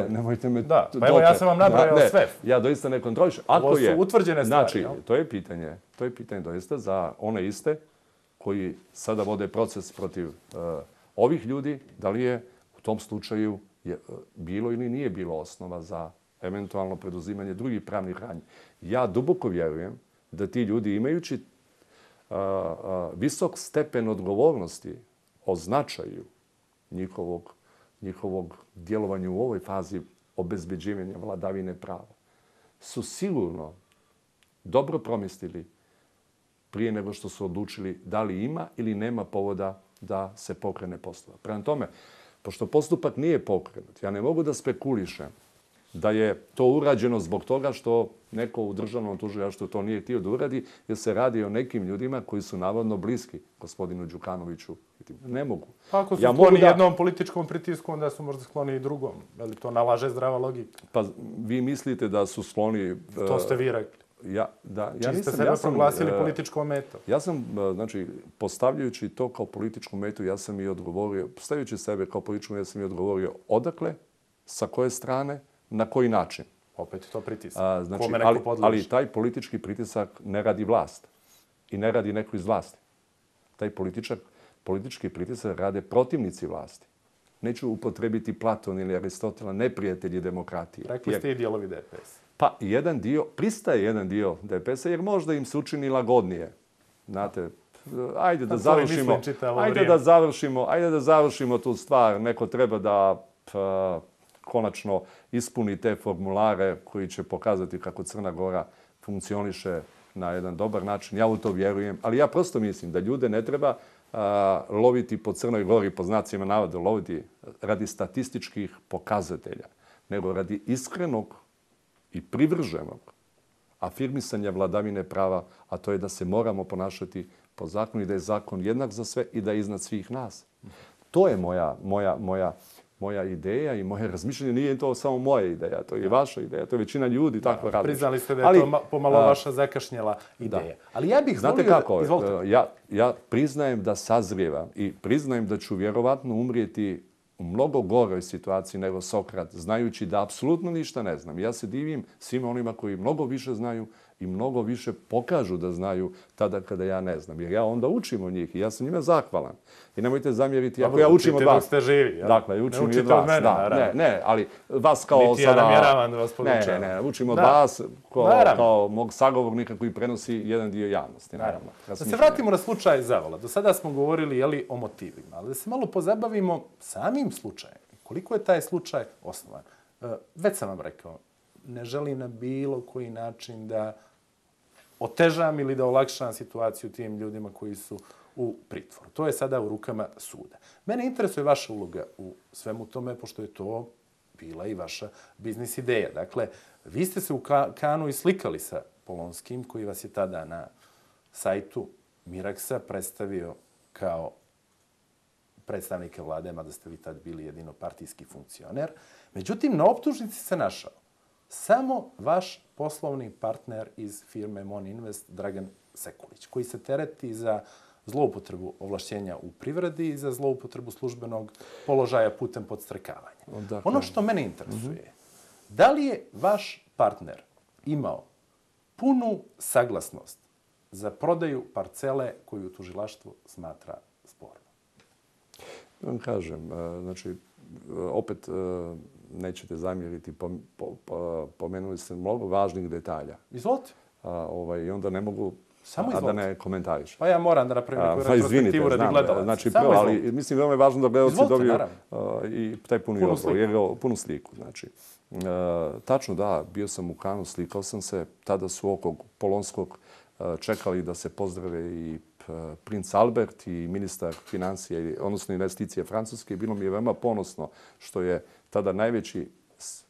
Nemojte me... Da, pa evo ja sam vam nabrojao sve. Ja doista ne kontrolišem. Ovo su utvrđene stvari. Znači, to je pitanje doista za one iste koji sada vode proces protiv ovih ljudi, da li je u tom slučaju bilo ili nije bilo osnova za eventualno preduzimanje drugih pravnih radnji. Ja duboko vjerujem da ti ljudi imajući visok stepen odgovornosti o značaju njihovog djelovanja u ovoj fazi obezbeđivanja vladavine prava, su sigurno dobro promislili prije nego što su odlučili da li ima ili nema povoda da se pokrene postupak. Prema tome, pošto postupak nije pokrenut, ja ne mogu da spekulišem da je to urađeno zbog toga što neko u državnom tužilaštvu to nije htio da uradi, jer se radi o nekim ljudima koji su navodno bliski gospodinu Đukanoviću. Ne mogu. Ako su skloni jednom političkom pritisku, onda su možda skloni i drugom. Ali to nalaže zdrava logika. Pa vi mislite da su skloni... To ste vi rekli. Čiji ste sebe proglasili političkom metom. Ja sam, znači, postavljajući to kao političku metu, ja sam i odgovorio, postavljajući sebe kao političku metu, ja sam i odgovorio odakle, sa koje strane, na koji način. Opet to pritisak. Ali taj politički pritisak ne radi vlast i ne radi neko iz vlasti. Taj politički pritisak rade protivnici vlasti. Neću upotrebiti Platon ili Aristotela, neprijatelji demokratije. Rekli ste i dijelovi DPS. Pa pristaje jedan dio DPS-a jer možda im se učini lagodnije. Znate, ajde da završimo tu stvar. Neko treba da konačno ispuni te formulare koji će pokazati kako Crna Gora funkcioniše na jedan dobar način. Ja u to vjerujem, ali ja prosto mislim da ljude ne treba loviti po Crnoj Gori, po znacima navoda, loviti radi statističkih pokazatelja, nego radi iskrenog i privrženog afirmisanja vladavine prava, a to je da se moramo ponašati po zakonu i da je zakon jednak za sve i da je iznad svih nas. To je moja moja ideja i moje razmišljanje. Nije to samo moja ideja, to je i vaša ideja, to je većina ljudi tako radi. Priznali ste da je to pomalo vaša zakašnjela ideja. Ali ja bih znate kako, ja priznajem da sazrijevam i priznajem da ću vjerovatno umrijeti u mnogo goroj situaciji nego Sokrat, znajući da apsolutno ništa ne znam. Ja se divim svima onima koji mnogo više znaju i mnogo više pokažu da znaju tada kada ja ne znam. Jer ja onda učim od njih i ja sam njima zahvalan. I nemojte zamjeriti ako ja učim od vas. Učite dok ste živi. Dakle, učim i od vas. Ne, ali vas kao sada... Niti ja namjeravam da vas podučavam. Ne, učim od vas kao mog sagovornika koji prenosi jedan dio javnosti. Naravno. Da se vratimo na slučaj Zavala. Do sada smo govorili o motivima, ali da se malo pozabavimo samim slučajem. Koliko je taj slučaj osnovan? Već sam vam rekao, ne želim na bilo koji način da otežam ili da olakšam situaciju tim ljudima koji su u pritvoru. To je sada u rukama suda. Mene interesuje vaša uloga u svemu tome, pošto je to bila i vaša biznis ideja. Dakle, vi ste se u Kanu i slikali sa Polonskim, koji vas je tada na sajtu Miraksa predstavio kao predstavnike vlade, mada ste vi tad bili jedino partijski funkcioner. Međutim, na optužnici se našao samo vaš poslovni partner iz firme Moninvest, Dragan Sekulić, koji se tereti za zloupotrebu ovlašćenja u privredi i za zloupotrebu službenog položaja putem podstrekavanja. Ono što mene interesuje, da li je vaš partner imao punu saglasnost za prodaju parcele koju tužilaštvo smatra spornom? Vam kažem, znači, opet nećete zamjeriti, pomenuli ste mnogo važnih detalja. Izvolite. I onda ne mogu, a da ne komentariš. Pa ja moram da napravim neku retrospektivu radi gledalaca. Znači, ali mislim, veoma je važno da gledalci dobiju i taj punu sliku. Znači, tačno da, bio sam u Kanu, slikao sam se, tada su oko Polonskog čekali da se pozdrave i princ Albert i ministar financija, odnosno investicije Francuske. Bilo mi je veoma ponosno što je tada najveći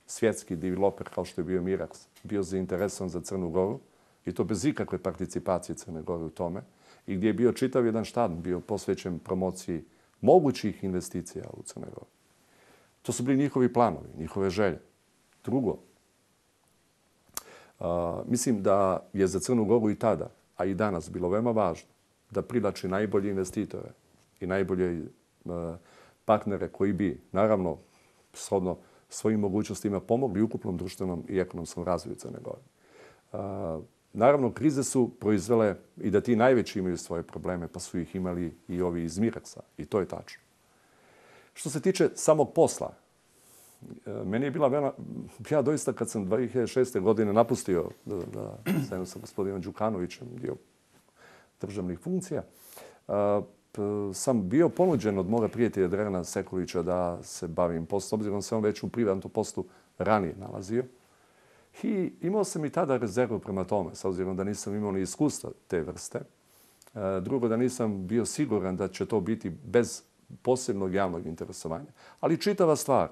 svjetski developer, kao što je bio Miraks, bio zainteresovan za Crnu Goru i to bez ikakve participacije Crne Gore u tome. I gdje je bio čitav jedan štab, bio posvećen promociji mogućih investicija u Crnoj Gori. To su bili njihovi planovi, njihove želje. Drugo, mislim da je za Crnu Goru i tada, a i danas, bilo veoma važno da privlači najbolje investitore i najbolje partnere koji bi, naravno, shodno svojim mogućnostima pomogli ukupnom društvenom i ekonomskom razvoju Crne Gore. Naravno, krize su proizvele i da ti najveći imaju svoje probleme, pa su ih imali i ovi iz Miraksa. I to je tačno. Što se tiče samog posla, meni je bila veoma... Ja doista kad sam 2006. godine napustio da zajedno sa gospodinom Đukanovićem dio državnih funkcija, sam bio ponuđen od moga prijatelja Dragana Sekulića da se bavim poslom, obzirom se on već u privatnom poslu ranije nalazio. I imao sam i tada rezervu prema tome, s obzirom da nisam imao ni iskustva te vrste. Drugo, da nisam bio siguran da će to biti bez posebnog javnog interesovanja. Ali čitava stvar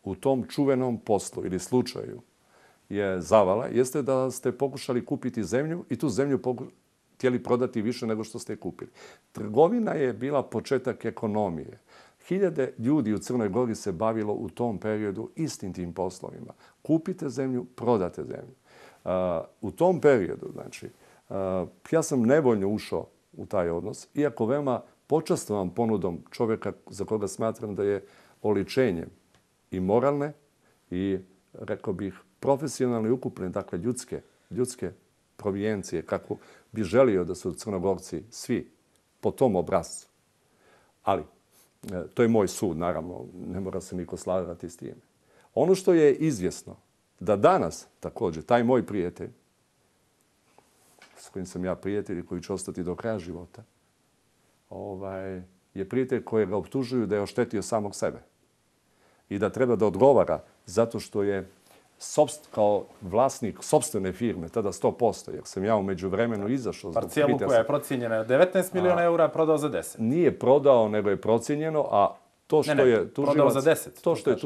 u tom čuvenom poslu ili slučaju je Zavala, jeste da ste pokušali kupiti zemlju i tu zemlju htjeli prodati više nego što ste kupili. Trgovina je bila početak ekonomije. Hiljade ljudi u Crnoj Gori se bavilo u tom periodu istim tim poslovima. Kupite zemlju, prodate zemlju. U tom periodu, znači, ja sam nevoljno ušao u taj odnos, iako veoma počastvovan ponudom čovjeka za koga smatram da je oličenjem i moralne i, rekao bih, profesionalne i ukupne, dakle, ljudske provijencije, kako bi želio da su Crnogorci svi po tom obrascu. Ali, to je moj sud, naravno, ne mora se niko slagati s time. Ono što je izvjesno, da danas također taj moj prijatelj, s kojim sam ja prijatelj i koji će ostati do kraja života, je prijatelj kojeg ga optužuju da je oštetio samog sebe i da treba da odgovara zato što je kao vlasnik sopstvene firme, tada 100%, jer sam ja u međuvremenu izašao. Parcijelu koja je procijenjena 19 miliona eura, prodao za 10. Nije prodao, nego je procijenjeno, a to što je tužilac... Prodao za 10. To što je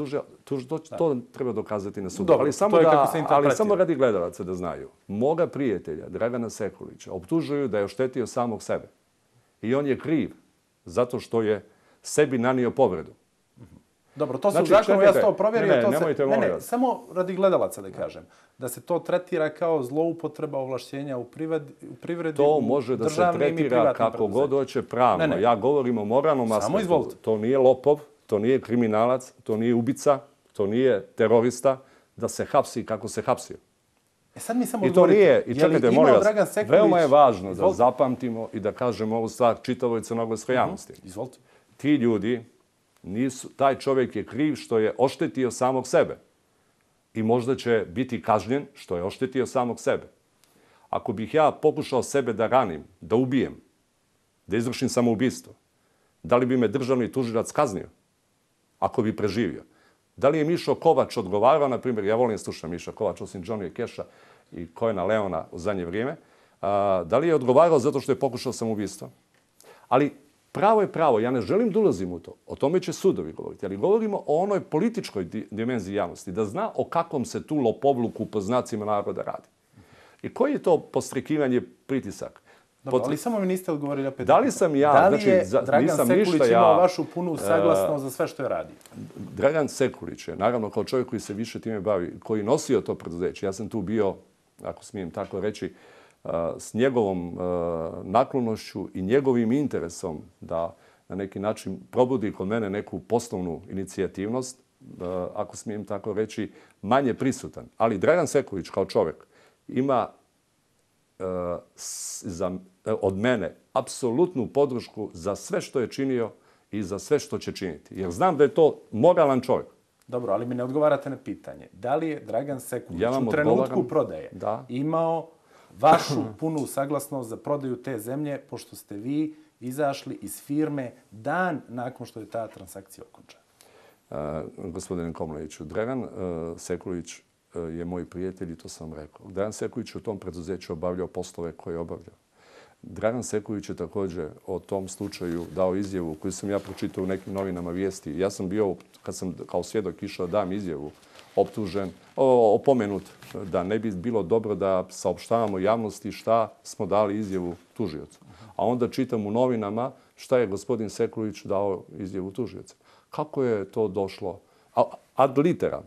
tužilac, to treba dokazati na sudu. Ali samo radi gledalaca da znaju. Moga prijatelja, Dragana Sekulića, optužuju da je oštetio samog sebe. I on je kriv zato što je sebi nanio povredu. Dobro, to se u zakonu, ja sam to provjerio. Nemojte, molim vas. Samo radi gledalaca da kažem. Da se to tretira kao zloupotreba ovlašćenja u privredi, to može da se tretira kako god hoće pravno. Ja govorim o moralnom aspektu. To nije lopov, to nije kriminalac, to nije ubica, to nije terorista, da se hapsi kako se hapsio. Sad mi samo I to nije, i čekajte, molim vas, veoma je važno da zapamtimo i da kažemo ovu stvar čitavoj crnogorskoj javnosti. Izvolite. Ti ljudi taj čovjek je kriv što je oštetio samog sebe. I možda će biti kažnjen što je oštetio samog sebe. Ako bih ja pokušao sebe da ranim, da ubijem, da izvršim samoubistvo, da li bi me državni tužilac kaznio? Ako bi preživio. Da li je Mišo Kovač odgovarao, na primjer, ja volim slušati Miša Kovač, osim Johnny Keša i Kojena Leona u zadnje vrijeme, da li je odgovarao zato što je pokušao samoubistvo? Ali pravo je pravo, ja ne želim da ulazim u to. O tome će sudovi govoriti, ali govorimo o onoj političkoj dimenziji javnosti, da zna o kakvom se tu lopovluku po znacima naroda radi. I koji je to podstrekivanje pritisak? Dobro, ali samo mi niste odgovorili opet. Da li sam ja, da li je Dragan Sekulić imao vašu punu saglasnost za sve što je radio? Dragan Sekulić je, naravno, kao čovjek koji se više time bavi, koji nosio to preduzeće. Ja sam tu bio, ako smijem tako reći, s njegovom naklonošću i njegovim interesom da na neki način probudi kod mene neku poslovnu inicijativnost, ako smijem tako reći, manje prisutan. Ali Dragan Sekulić kao čovjek ima od mene apsolutnu podršku za sve što je činio i za sve što će činiti. Jer znam da je to moralan čovjek. Dobro, ali mi ne odgovarate na pitanje. Da li je Dragan Sekulić u trenutku prodaje imao vašu punu saglasnost za prodaju te zemlje, pošto ste vi izašli iz firme dan nakon što je ta transakcija okončana? Gospodine Komleniću, Dragan Sekulić je moj prijatelj i to sam rekao. Dragan Sekulić u tom preduzeću obavljao poslove koje je obavljao. Dragan Sekulić je također o tom slučaju dao izjavu koju sam ja pročitao u nekim novinama vijesti. Ja sam bio, kad sam kao svjedok išao dam izjavu, optužen, opomenut da ne bi bilo dobro da saopštavamo javnosti šta smo dali izjavu tužiocu. A onda čitam u novinama šta je gospodin Sekulić dao izjavu tužioca. Kako je to došlo? Ad literam.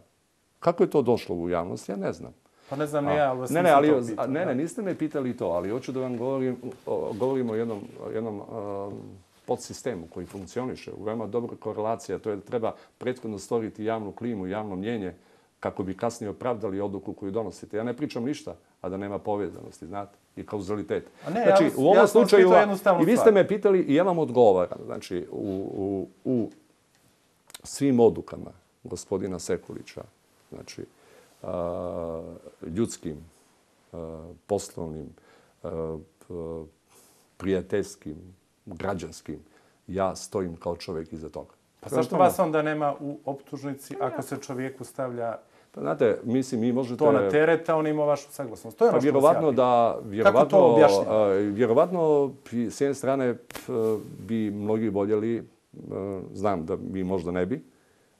Kako je to došlo u javnost? Ja ne znam. Pa ne znam ni ja, ali vas nisam to pitao. Ne, niste me pitali to, ali hoću da vam govorim o jednom podsistemu koji funkcioniše. Veoma dobra korelacija, to je da treba prethodno stvoriti javnu klimu, javno mnjenje, kako bi kasnije opravdali odluku koju donosite. Ja ne pričam ništa, a da nema povezanosti, znate, i kauzalitet. Znači, u ovom slučaju, i vi ste me pitali i ja vam odgovaram. Znači, u svim odlukama gospodina Sekulića, znači, ljudskim, poslovnim, prijateljskim, građanskim, ja stojim kao čovjek iza toga. Pa zašto vas onda nema u optužnici ako se čovjeku stavlja znate, mislim, mi možete to na teret, a on ima vašu saglasnost? To je ono što vjerovatno da, kako to objašnjava? Vjerovatno, s jedne strane, bi mnogi voljeli, znam da mi možda ne bi,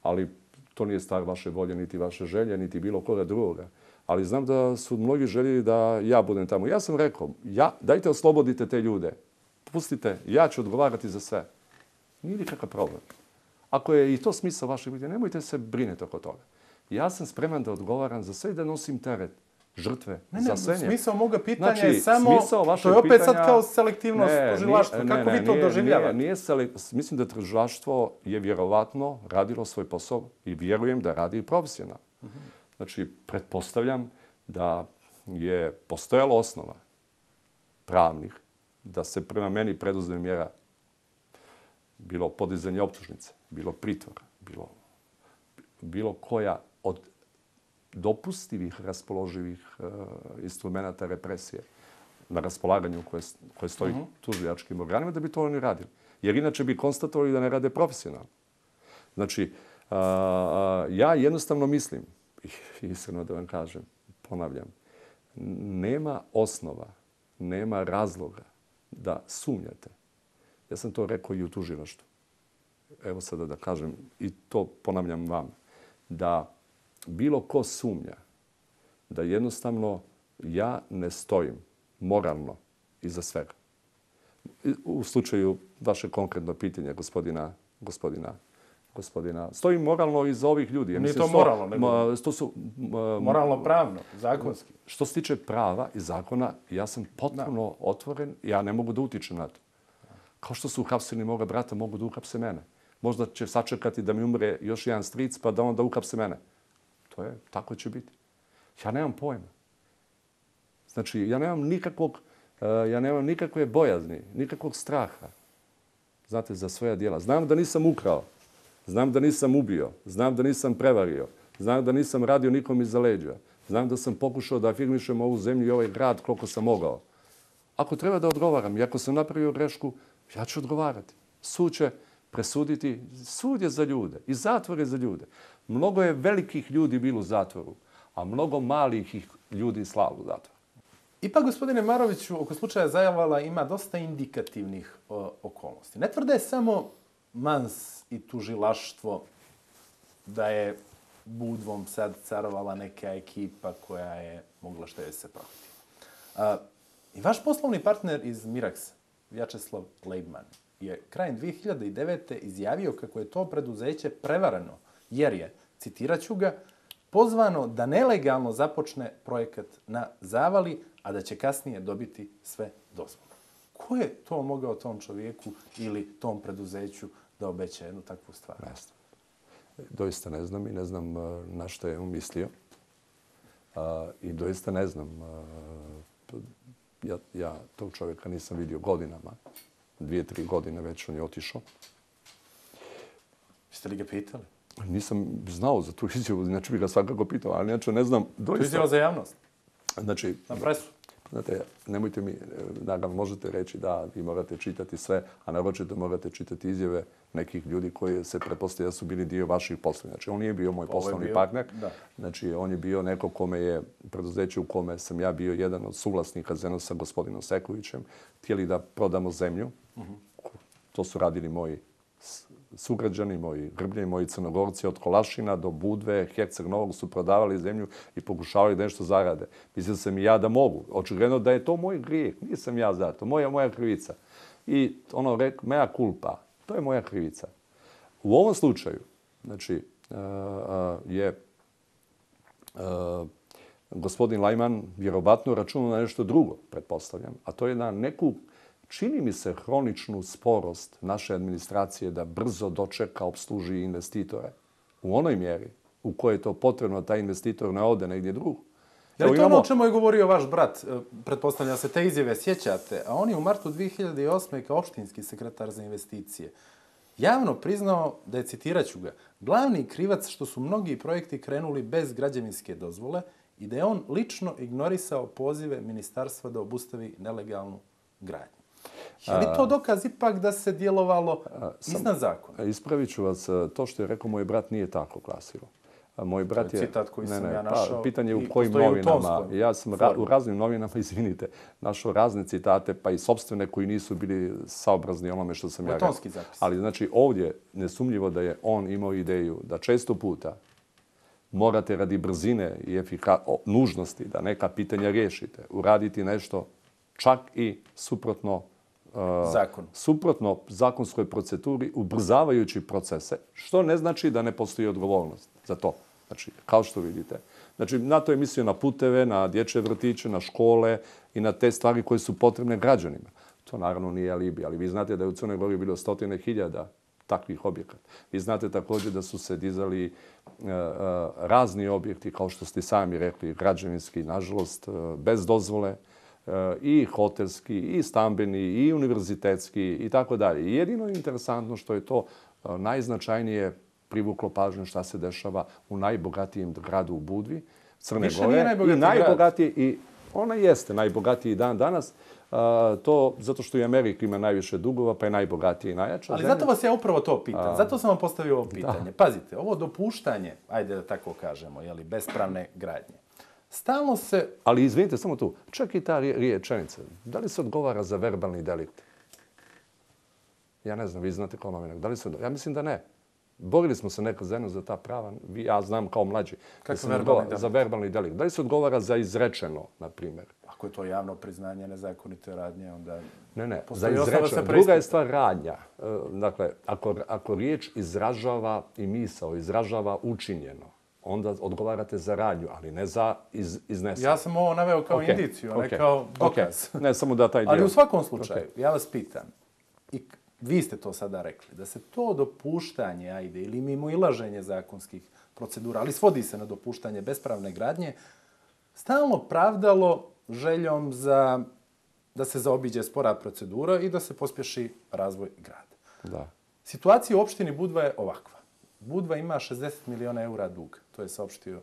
ali to nije stvar vaše volje, niti vaše želje, niti bilo koga drugoga. Ali znam da su mnogi željeli da ja budem tamo. Ja sam rekao, dajte oslobodite te ljude. Pustite, ja ću odgovarati za sve. Nije nikakav problem. Ako je i to smisao vašeg biti, nemojte se brinuti oko toga. Ja sam spreman da odgovaram za sve i da nosim teret žrtve za sve. Smisao moga pitanja je samo, to je opet sad kao selektivnost tužilaštva. Kako vi to doživljavate? Mislim da tužilaštvo je vjerovatno radilo svoj posao i vjerujem da radi profesionalno. Znači, pretpostavljam da je postojala osnova pravnih da se prema meni preduzme mjera bilo podizanje optužnice, bilo pritvora, bilo koja od dopustivih raspoloživih instrumenta represije na raspolaganju koje stoji tužilačkim organima, da bi to oni radili. Jer inače bi konstatovali da ne rade profesionalno. Znači, ja jednostavno mislim, iskreno da vam kažem, ponavljam, nema osnova, nema razloga da sumnjate. Ja sam to rekao i u tužilaštvu. Evo sada da kažem, i to ponavljam vam, da bilo ko sumnja da jednostavno ja ne stojim moralno iza svega. U slučaju vaše konkretno pitanja gospodina gospodina. Stojim moralno iza ovih ljudi. Nije to moralno, nego moralno-pravno, zakonski. Što se tiče prava i zakona, ja sam potpuno otvoren. Ja ne mogu da utičem na to. Kao što su uhapsili moga brata, mogu da uhapse mene. Možda će sačekati da mi umre još jedan stric, pa da onda uhapse mene. Tako će biti. Ja nemam pojma. Znači, ja nemam nikakve bojazni, nikakvog straha. Znate, za svoja djela. Znam da nisam ukrao. Znam da nisam ubio. Znam da nisam prevario. Znam da nisam radio nikom iza leđa. Znam da sam pokušao da afirmišem ovu zemlju i ovaj grad koliko sam mogao. Ako treba da odgovaram i ako sam napravio grešku, ja ću odgovarati. Sud će presuditi. Sud je za ljude i zatvor je za ljude. Mnogo je velikih ljudi bilo u zatvoru, a mnogo malih ljudi slalo u zatvor. Ipak, gospodine Maroviću, oko slučaja Zajavala ima dosta indikativnih okolnosti. Ne tvrde samo Mans i tužilaštvo da je Budvom sad carovala neka ekipa koja je mogla što je se prohti. I vaš poslovni partner iz Miraksa, Vjačeslav Leibman, je krajem 2009. izjavio kako je to preduzeće prevareno, jer je, citirat ću ga, pozvano da nelegalno započne projekat na Zavali, a da će kasnije dobiti sve dozvole. Ko je to mogao tom čovjeku ili tom preduzeću da obeća jednu takvu stvar? Ne znam. Doista ne znam i ne znam na što je on mislio. I doista ne znam. Ja tog čovjeka nisam vidio godinama. 2-3 godine već on je otišao. Jeste li ga pitali? Nisam znao za tu izjavu, znači bi ga svakako pitao, ali inače ne znam. To je izjava za javnost? Znači, na presu? Znate, nemojte mi, naravno možete reći da vi morate čitati sve, a naročito morate čitati izjave nekih ljudi koji se pretpostavlja da su bili dio vaših poslova. Znači, on nije bio moj poslovni partner. Znači, on je bio neko kome je preduzeće u kome sam ja bio jedan od suvlasnika zajedno sa gospodinom Sekovićem. Htjeli da prodamo zemlju. To su radili moji sugrađani, moji Grbljani, moji Crnogorci od Kolašina do Budve, Herceg Novog su prodavali zemlju i pokušavali da nešto zarade. Mislio sam i ja da mogu. Očigledno da je to moj grijeh. Nisam ja za to. Moja krivica. I ono rekao, mea culpa. To je moja krivica. U ovom slučaju, znači, je gospodin Lajman vjerovatno računao na nešto drugo, pretpostavljam, a to je na neku, čini mi se, hroničnu sporost naše administracije da brzo dočeka, opsluži investitore. U onoj mjeri u kojoj je to potrebno, taj investitor ne ode negdje drugo. Je li to ono o čemu je govorio vaš brat? Pretpostavljam se te izjave sjećate, a on je u martu 2008. kao opštinski sekretar za investicije javno priznao da je, citirat ću ga, glavni krivac što su mnogi projekti krenuli bez građevinske dozvole i da je on lično ignorisao pozive ministarstva da obustavi nelegalnu gradnju. Je li to dokaz ipak da se djelovalo iznad zakona? Ispravit ću vas, to što je rekao moj brat nije tako glasilo. Moj brat je... Citat koji sam ja našao. Pitanje je u kojim novinama. Ja sam u raznim novinama, izvinite, našao razne citate, pa i sopstvene koji nisu bili saobrazni onome što sam ja rekao. Tonski zapis. Ali znači ovdje nesumnjivo da je on imao ideju da često puta morate radi brzine i nužnosti da neka pitanja riješite, uraditi nešto čak i suprotno zakonskoj proceduri, ubrzavajući procese, što ne znači da ne postoji odgovornost za to. Znači, kao što vidite. Znači, na to je mislio na puteve, na dječje vrtiće, na škole i na te stvari koje su potrebne građanima. To naravno nije alibi, ali vi znate da je u Crnoj Gori bilo 100.000 takvih objekata. Vi znate također da su se dizali razni objekti, kao što ste sami rekli, građevinski, nažalost, bez dozvole, i hotelski, i stambeni, i univerzitetski, i tako dalje. Jedino je interesantno što je to najznačajnije privuklo pažnju šta se dešava u najbogatijem gradu u Budvi, Crne Gore. I najbogatiji i ona jeste najbogatiji dan danas. To zato što i Amerika ima najviše dugova, pa je najbogatiji i najjača. Ali zato vas ja upravo to pitam. Zato sam vam postavio ovo pitanje. Pazite, ovo dopuštanje, ajde da tako kažemo, bespravne gradnje. Stalno se... Ali izvinite, samo tu. Čak i ta rečenica. Da li se odgovara za verbalni delikt? Ja ne znam, vi znate kao novinar. Da li se odgovara? Ja mislim da ne. Borili smo se nekad zajedno za ta prava. Ja znam kao mlađi. Za verbalni delikt. Da li se odgovara za izrečeno, na primjer? Ako je to javno priznanje nezakonite radnje, onda... Ne, za izrečeno. Druga je stvar radnja. Dakle, ako riječ izražava i misao, izražava učinjeno, onda odgovarate za radnju, ali ne za izneseno. Ja sam ovo naveo kao indiciju, a ne kao dokaz. Ne, samo da taj dio... Ali u svakom slučaju, ja vas pitam, i vi ste to sada rekli, da se to dopuštanje, ili mimoilaženje zakonskih procedura, ali svodi se na dopuštanje bespravne gradnje, stalno pravdalo željom da se zaobiđe spora procedura i da se pospješi razvoj grada. Da. Situacija u opštini Budva je ovakva. Budva ima 60 miliona eura dug. To je saopštio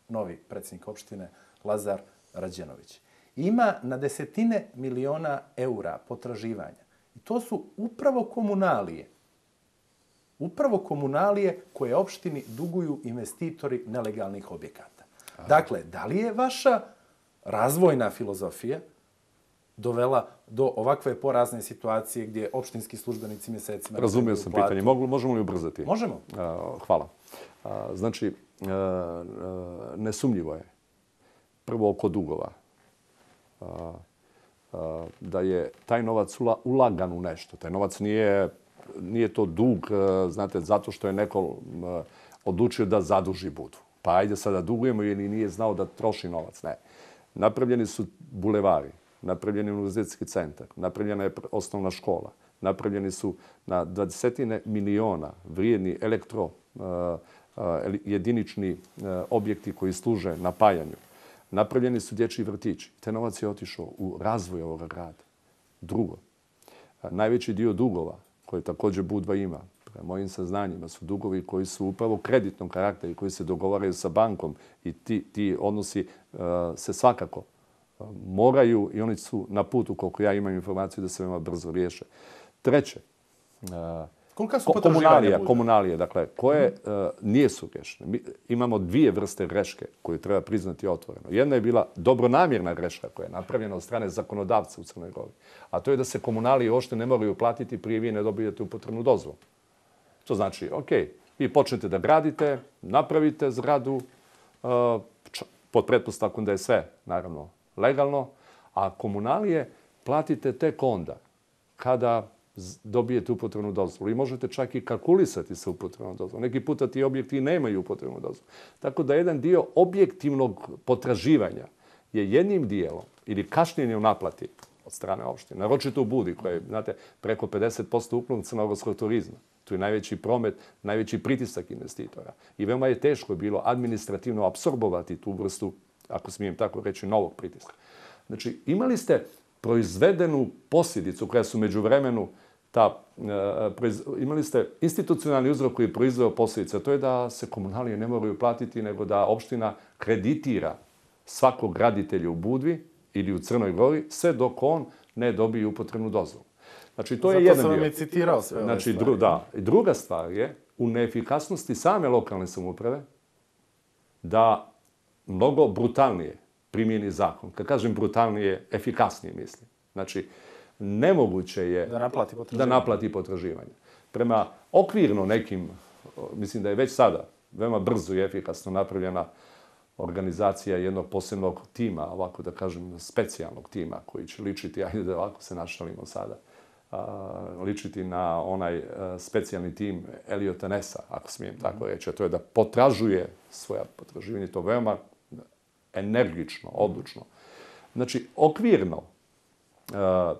novi predsjednik opštine Lazar Rađenović. Ima na desetine miliona eura potraživanja. I to su upravo komunalije. Upravo komunalije koje opštini duguju investitori nelegalnih objekata. Dakle, da li je vaša razvojna filozofija dovela do ovakve porazne situacije gdje opštinski službenici mjesecima... Razumio sam pitanje. Možemo li ubrzati? Možemo. Hvala. Znači, nesumnjivo je. Prvo oko dugova. Da je taj novac ulagan u nešto. Taj novac nije to dug, znate, zato što je neko odlučio da zaduži Budvu. Pa ajde sada dugujemo ili nije znao da troši novac. Ne. Napravljeni su bulevari, napravljen je univerzitetski centar, napravljena je osnovna škola, napravljeni su na 20 miliona vrijedni jedinični objekti koji služe napajanju. Napravljeni su dječji vrtići. Te novac je otišao u razvoj ovoga grada. Drugo, najveći dio dugova koje također Budva ima, prema mojim saznanjima, su dugovi koji su upravo kreditnog karaktera i koji se dogovaraju sa bankom i ti odnosi se svakako moraju i oni su na putu, koliko ja imam informaciju, da se veoma brzo riješe. Treće, komunalije, dakle, koje nisu grešne. Imamo dvije vrste greške koje treba priznati otvoreno. Jedna je bila dobronamjerna greška koja je napravljena od strane zakonodavca u Crnoj Gori, a to je da se komunalije uopšte ne moraju platiti prije vi ne dobijete upotrebnu dozvolu. To znači, vi počnete da gradite, napravite zgradu, pod pretpostavkom da je sve, naravno, legalno, a komunalije platite tek onda kada dobijete upotrebnu dozvolu. I možete čak i kalkulisati sa upotrebnom dozvolom. Neki puta ti objekti nemaju upotrebnu dozvolu. Tako da jedan dio objektivnog potraživanja je jednim dijelom ili kašnjenje u naplati od strane opštine. Naročito u Budvi, koja je, znate, preko 50% ukupnog crnogorskog turizma. Tu je najveći promet, najveći pritisak investitora. I veoma je teško bilo administrativno apsorbovati tu vrstu, ako smijem tako reći, novog pritiska. Znači, imali ste proizvedenu posljedicu koja su međuvremenu imali ste institucionalni uzrok koji je proizveo posljedice. To je da se komunalije ne moraju platiti, nego da opština kreditira svakog graditelja u Budvi ili u Crnoj Gori, sve dok on ne dobije upotrebnu dozvolu. Znači, to je jedan dio. Zato sam vam i citirao sve ove stvari. Da. Druga stvar je u neefikasnosti same lokalne samouprave da mnogo brutalnije primijeni zakon. Kad kažem brutalnije, efikasnije mislim. Znači, nemoguće je da naplati potraživanje. Prema okvirno nekim, mislim da je već sada veoma brzo i efikasno napravljena organizacija jednog posebnog tima, ovako da kažem specijalnog tima koji će ličiti, ajde da ovako se našalimo sada, ličiti na onaj specijalni tim Eliota Nessa, ako smijem tako reći, a to je da potražuje svoja potraživanja, to veoma energično, odlučno. Znači, okvirno,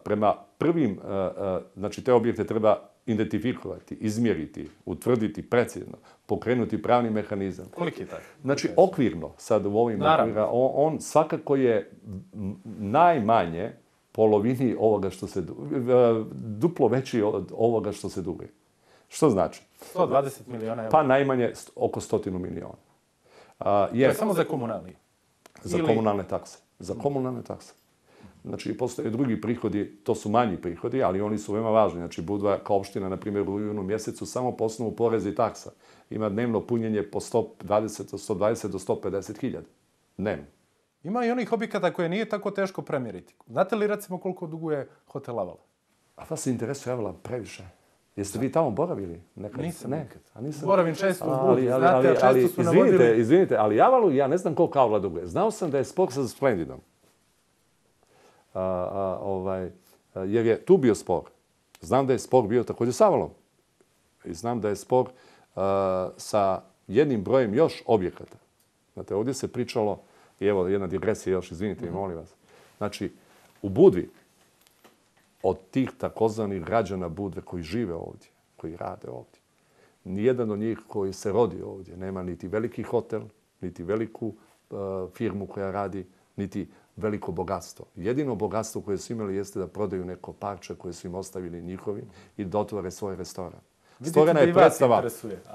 prema prvim, znači te objekte treba identifikovati, izmjeriti, utvrditi precizno, pokrenuti pravni mehanizam. Koliki je taj? Znači, okvirno, sad u ovim okvirima, on svakako je najmanje polovini ovoga što se duplo veći od ovoga što se duguje. Što znači? 120 miliona eura. Pa najmanje oko 100 miliona. To je samo za komunalije? Za komunalne takse. Za komunalne takse. Znači, postoje drugi prihodi, to su manji prihodi, ali oni su veoma važni. Znači, Budva kao opština, na primjer, u junu mjesecu, samo po osnovu poreza i taksa, ima dnevno punjenje po 120 do 150 hiljada. Dnevno. Ima i onih objekata koje nije tako teško premjeriti. Znate li, recimo, koliko duguje hotel Avala? A vas se interesuje Avala previše? Jeste vi tamo boravili? Nisam nikad. Nisam. Boravim često u Budvi, znate, a često su navodili... Izvinite, ali Javalu ja ne znam koliko Avla duguje. Znao sam da je spor sa Splendidom. Jer je tu bio spor. Znam da je spor bio također s Avalom. I znam da je spor sa jednim brojem još objekata. Znate, ovdje se pričalo, i evo jedna digresija još, izvinite, molim vas. Znači, u Budvi, od tih takozvanih građana Budve koji žive ovdje, koji rade ovdje, nijedan od njih koji se rodi ovdje nema niti veliki hotel, niti veliku firmu koja radi, niti veliko bogatstvo. Jedino bogatstvo koje su imali jeste da prodaju neko parče koje su im ostavili njihovi i da otvore svoj restoran. Stvorena je predstava.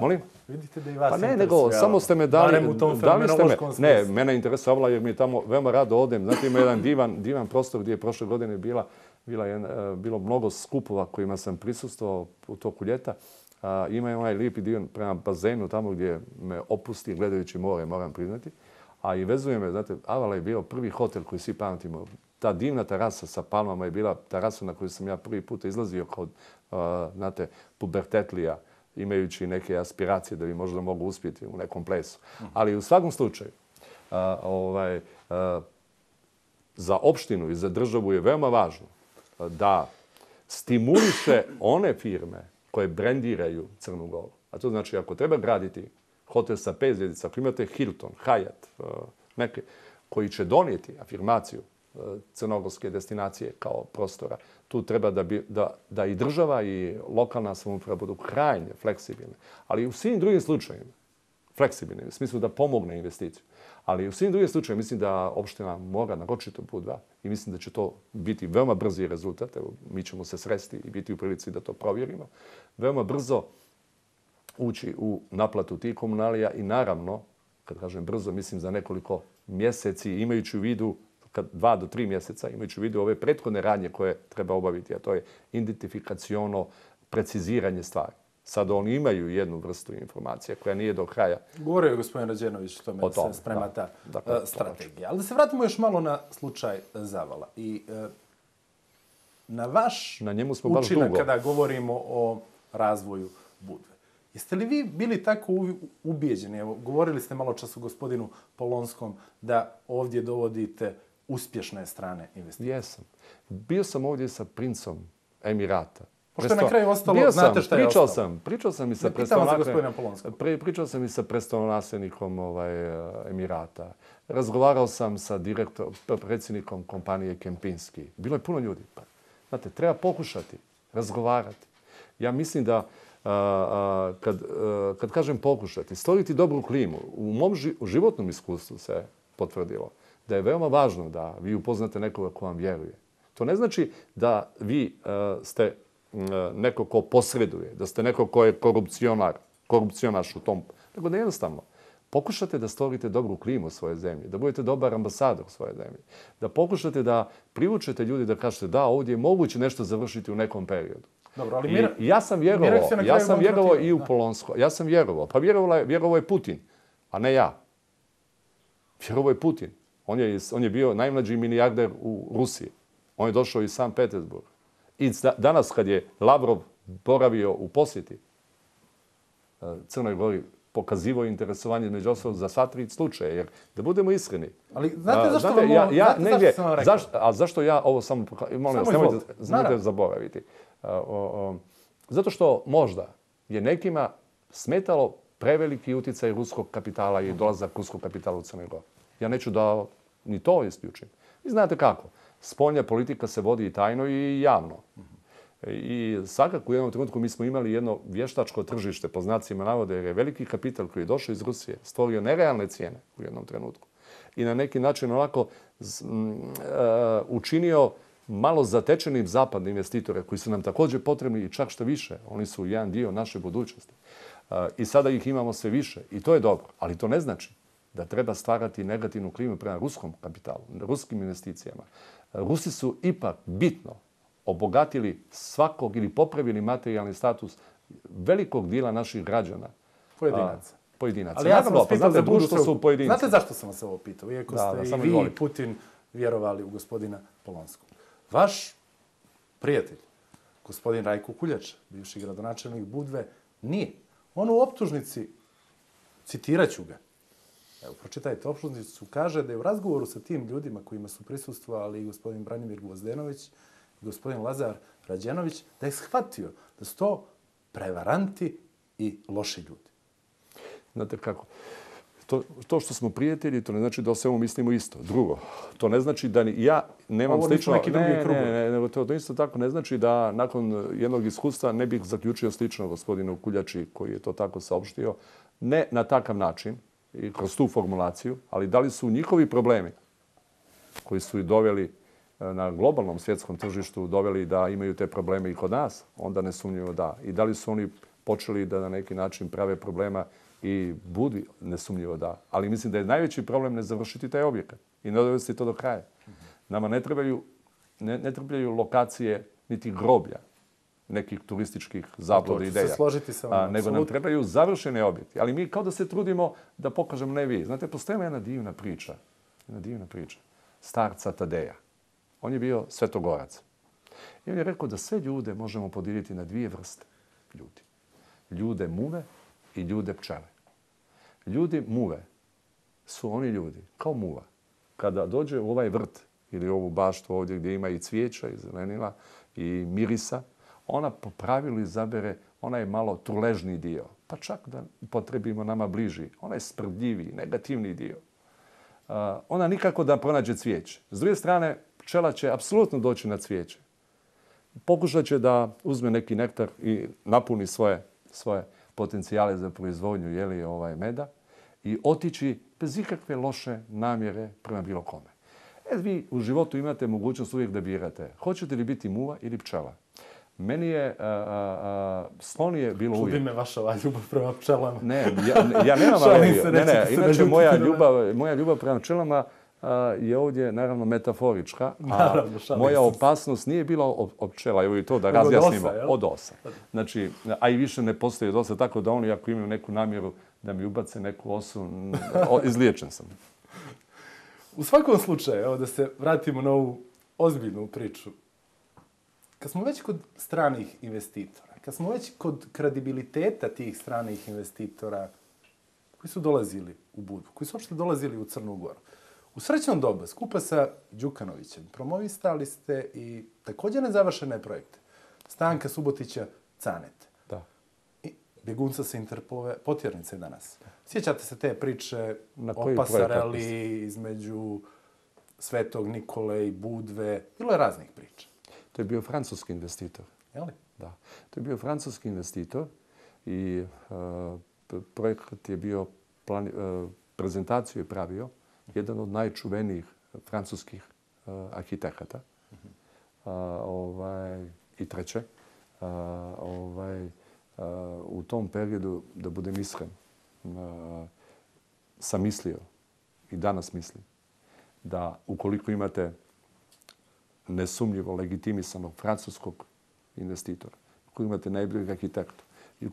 Molim? Vidite da i vas pa ne, interesuje. nego samo ste me dali... Barem u tom fenomenološkom smislu. Ne, mene interesuje Avala jer mi tamo veoma rado odem. Znate, ima jedan divan prostor gdje je prošle godine bilo mnogo skupova kojima sam prisustvovao u toku ljeta. Ima onaj lijepi dio prema bazenu tamo gdje me opusti gledajući more, moram priznati. A i vezuje me, znate, Avala je bio prvi hotel koji svi pamtimo. Ta divna terasa sa palmama je bila terasa na koju sam ja prvi put izlazio kod, znate, pubertetlija, imajući neke aspiracije da bi možda mogu uspjeti u nekom plesu. Ali u svakom slučaju, za opštinu i za državu je veoma važno da stimuliše one firme koje brendiraju Crnu Goru. A to znači, ako treba graditi hotel sa 5 zvjezdica, ako imate Hilton, Hyatt, neke koji će donijeti afirmaciju crnogorske destinacije kao prostora, tu treba da i država i lokalna samouprava budu krajnje fleksibilne. Ali i u svim drugim slučajima, fleksibilne, u smislu da pomogne investiciju. Ali u svim drugim slučajima mislim da opština mora naročito Budva i mislim da će to biti veoma brzi rezultat. Evo, mi ćemo se sresti i biti u prilici da to provjerimo. Veoma brzo ući u naplatu tih komunalija i naravno, kad kažem brzo, mislim za nekoliko mjeseci, imajući u vidu 2 do 3 mjeseca, imajući u vidu ove prethodne radnje koje treba obaviti, a to je identifikaciono preciziranje stvari. Sad oni imaju jednu vrstu informacije koja nije do kraja. Govorio je gospodin Rađenović o tome da se sprema ta strategija. Ali da se vratimo još malo na slučaj Zavala. I na vaš učinak kada govorimo o razvoju Budve. Jeste li vi bili tako ubijeđeni? Evo, govorili ste malo čas o gospodinu Polonskom da ovdje dovodite uspješne strane investicije. Jesam. Bio sam ovdje sa princom Emirata. Pošto je na kraju ostalo, znate šta je ostalo? Pričao sam i sa pričao sam i sa prestolonasljednikom Emirata. Razgovarao sam sa predsjednikom kompanije Kempinski. Bilo je puno ljudi. Znate, treba pokušati razgovarati. Ja mislim da kad kažem pokušati, stvoriti dobru klimu, u mom životnom iskustvu se potvrdilo da je veoma važno da vi upoznate nekoga ko vam vjeruje. To ne znači da vi ste neko ko posreduje, da ste neko ko je korupcionaš u tom, nego da jednostavno pokušate da stvorite dobru klimu u svojoj zemlji, da budete dobar ambasador u svojoj zemlji, da pokušate da privučete ljudi da kažete da, ovdje je moguće nešto završiti u nekom periodu. Dobro, ali ja sam vjerovao i u Polonsko. Ja sam vjerovao. Pa vjerovao je Putin, a ne ja. Vjerovao je Putin. On je bio najmlađi milijarder u Rusiji. On je došao iz Sankt Petersburga. I danas kad je Lavrov boravio u posjeti Crnoj Gori, pokazivao interesovanje među ostalog za sva 3 slučaje. Jer da budemo iskreni. Ali znate zašto vam ovo... Znate zašto sam vam rekao? A zašto ja ovo samo... Molim vas, nemojte zaboraviti. Zato što možda je nekima smetalo preveliki utjecaj ruskog kapitala i dolazak ruskog kapitala u Crnoj Gori. Ja neću da ni to isključim. Vi znate kako. Spoljna politika se vodi i tajno i javno. I svakako u jednom trenutku mi smo imali jedno vještačko tržište, po znacima navode, jer je veliki kapital koji je došao iz Rusije stvorio nerealne cijene u jednom trenutku. I na neki način onako učinio malo zatečenim zapadne investitore koji su nam također potrebni i čak što više. Oni su jedan dio naše budućnosti. I sada ih imamo sve više i to je dobro. Ali to ne znači da treba stvarati negativnu klimu prema ruskom kapitalu, ruskim investicijama. Rusi su ipak bitno obogatili svakog ili popravili materijalni status velikog dijela naših građana. Pojedinaca. Ali ja sam vas pitao da društvo su pojedinci. Znate zašto sam vas ovo pitao? Iako ste i vi i Putin vjerovali u gospodina Polonskog. Vaš prijatelj, Gospodin Rajko Kuljača, bivši gradonačelnik Budve, nije. On u optužnici, citiraću ga, evo, pročitajte optužnicu, kaže da je u razgovoru sa tim ljudima kojima su prisustvovali i gospodin Branimir Gvozdenović i gospodin Lazar Rađenović, da je shvatio da su to prevaranti i loši ljudi. Znate kako? To što smo prijatelji, to ne znači da o svemu mislimo isto. Drugo, to ne znači da ja nemam slično... Ovo nisu neki drugi krugovi. Ne, to isto tako ne znači da nakon jednog iskustva ne bih zaključio slično gospodinu Kuljači koji je to tako saopštio. Ne na takav način i kroz tu formulaciju, ali da li su njihovi problemi koji su i doveli na globalnom svjetskom tržištu, doveli da imaju te probleme i kod nas, onda nesumnjivo da. I da li su oni počeli da na neki način prave problema i Budvi, nesumnjivo da. Ali mislim da je najveći problem ne završiti taj objekat i ne dovesti to do kraja. Nama ne trebaju lokacije niti groblja nekih turističkih zabluda ideja. To ću se složiti sa vama. Nego nam trebaju završene objekti. Ali mi kao da se trudimo da pokažemo, ne vi. Znate, postoji jedna divna priča. Starca Tadeja. On je bio svetogorac. I on je rekao da sve ljude možemo podijeliti na dvije vrste ljudi. Ljude muve i ljude pčele. Ljudi muve su oni ljudi, kao muva. Kada dođe u ovaj vrt ili ovu baštu ovdje gdje ima i cvijeća i zelenila i mirisa, ona po pravilu izabere onaj malo truležniji dio. Pa čak da potrebimo nama bliži, onaj sprdljiviji, negativni dio. Ona nikako da pronađe cvijeće. S druge strane, pčela će apsolutno doći na cvijeće. Pokušat će da uzme neki nektar i napuni svoje potencijale za proizvodnju meda i otići bez ikakve loše namjere prema bilo kome. Vi u životu imate mogućnost uvijek da birate. Hoćete li biti muva ili pčela? Meni je slonije bilo uvijek. Čudi me vaša ljubav prema pčelama. Ne, ja nemam inače moja ljubav prema pčelama je ovdje naravno metaforička, a moja opasnost nije bila od pčela, evo i to da razjasnimo, od osa. Znači, a i više ne postoji od osa, tako da oni ako imaju neku namjeru da mi ubace neku osu, izliječen sam. U svakom slučaju, evo da se vratimo na ovu ozbiljnu priču. Kad smo već kod stranih investitora, kad smo već kod kredibiliteta tih stranih investitora koji su dolazili u Budvu, koji su uopšte dolazili u Crnu Goru, u srećnom dobu, skupa sa Đukanovićem, promovistali ste i također nezavršene projekte. Stanka Subotića Canete. Da. I bjegunca sa Interpolove potjernice danas. Sjećate se te priče o pasareli između Svetog Nikole i Budve? Bilo je raznih priča. To je bio francuski investitor. Je li? Da. To je bio francuski investitor i projekat je bio, prezentaciju je pravio jedan od najčuvenijih francuskih arhitekata. I treće, u tom periodu, da budem iskren, sam mislio i danas mislim da ukoliko imate nesumnjivo legitimisanog francuskog investitora, ukoliko imate najboljeg arhitekta, i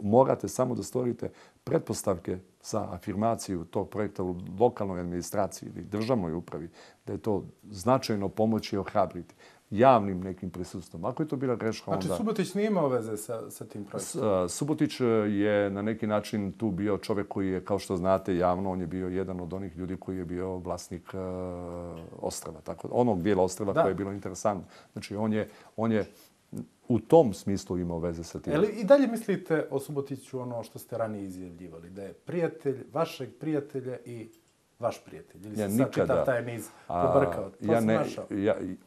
morate samo da stvorite pretpostavke za afirmaciju tog projekta u lokalnoj administraciji ili državnoj upravi, da je to značajno pomoći i ohrabriti javnim nekim prisustvom. Ako je to bila greška, onda... Znači, Subotić nije imao veze sa tim projektom? Subotić je na neki način tu bio čovjek koji je, kao što znate, javno, on je bio jedan od onih ljudi koji je bio vlasnik ostrva. Tako, onog dijela ostrva koje je bilo interesantno. Znači, on je u tom smislu imao veze sa tim. Ali i dalje mislite o Subotiću ono što ste ranije izjavljivali, da je prijatelj vašeg prijatelja i vaš prijatelj? Ili se sad čitav taj niz pobrkao?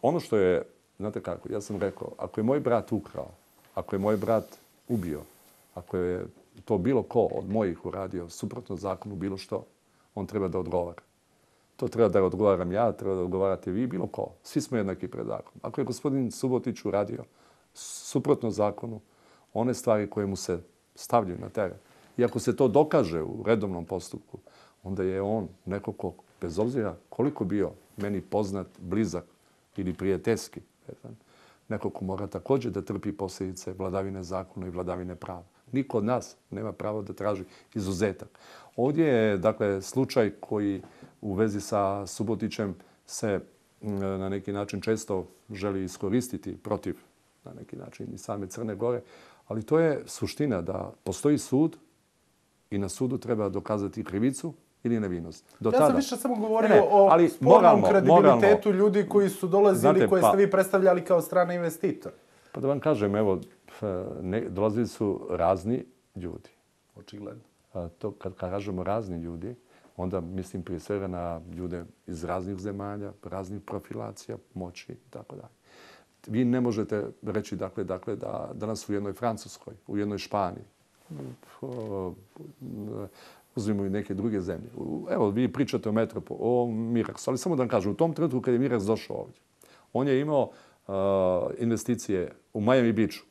Ono što je, znate kako, ja sam rekao, ako je moj brat ukrao, ako je moj brat ubio, ako je to bilo ko od mojih uradio suprotno zakonu bilo što, on treba da odgovara. To treba da odgovaram ja, treba da odgovarate vi, bilo ko. Svi smo jednaki pred zakonom. Ako je gospodin Subotić uradio suprotno zakonu, one stvari koje mu se stavljaju na teren, i ako se to dokaže u redovnom postupku, onda je on neko ko, bez obzira koliko bio meni poznat, blizak ili prijateljski, neko ko mora također da trpi posljedice vladavine zakona i vladavine prava. Niko od nas nema pravo da traži izuzetak. Ovdje je, dakle, slučaj koji u vezi sa Subotićem se na neki način često želi iskoristiti protiv na neki način i same Crne Gore. Ali to je suština da postoji sud i na sudu treba dokazati krivicu ili nevinost. Ja sam više samo govorio o spornom kredibilitetu ljudi koji su dolazili, koje ste vi predstavljali kao strane investitore. Pa da vam kažem, evo, dolazili su razni ljudi. Očigledno. To kad kažemo razni ljudi, onda mislim prije svega na ljude iz raznih zemalja, raznih profilacija, moći i tako dalje. Vi ne možete reći dakle da danas u jednoj Francuskoj, u jednoj Španiji, uzmimo i neke druge zemlje. Evo, vi pričate o Metropolu, o Miraksu, ali samo da vam kažem, u tom trenutku kad je Miraks došao ovdje, on je imao investicije u Miami Beachu.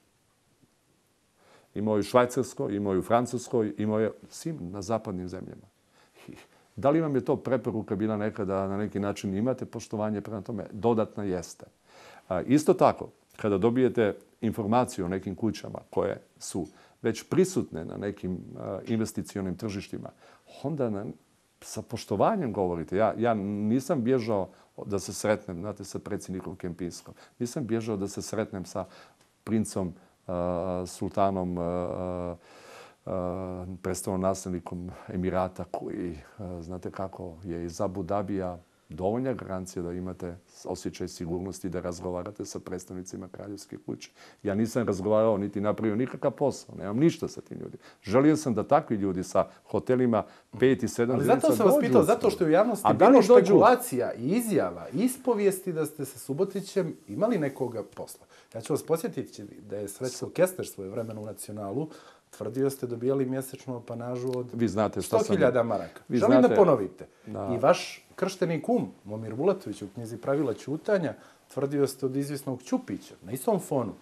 Imao je u Švajcarskoj, imao je u Francuskoj, imao je svim na zapadnim zemljama. Da li vam je to preporuka bila nekada na neki način imate poštovanje prema tome? Dodatna jeste. Isto tako, kada dobijete informaciju o nekim kućama koje su već prisutne na nekim investicionim tržištima, onda sa poštovanjem govorite. Ja nisam bježao da se sretnem, znate, sa predsjednikom Kempinskom. Nisam bježao da se sretnem sa princom, sultanom, prestolonaslednikom Emirata koji, znate kako, je iz Abu Dabija dovoljna garancija da imate osjećaj sigurnosti da razgovarate sa predstavnicima kraljevske kuće. Ja nisam razgovarao niti napravio nikakav posao. Nemam ništa sa tim ljudima. Želio sam da takvi ljudi sa hotelima 5 i 7 zvjezdica dođu. Ali zato sam vas pitao, zato što je u javnosti bilo špekulacija i izjava, ispovijesti da ste sa Subotićem imali nekoga posla. Ja ću vas posjetiti da je Srećko Kester svoje vremeno u Nacionalu tvrdio ste dobijali mjesečnu apanažu od 100.000 maraka. Želim da ponovite. I vaš kršteni kum, Momir Bulatović, u knjizi Pravila ćutanja, tvrdio ste od izvisnog Ćupića, na istom fonu,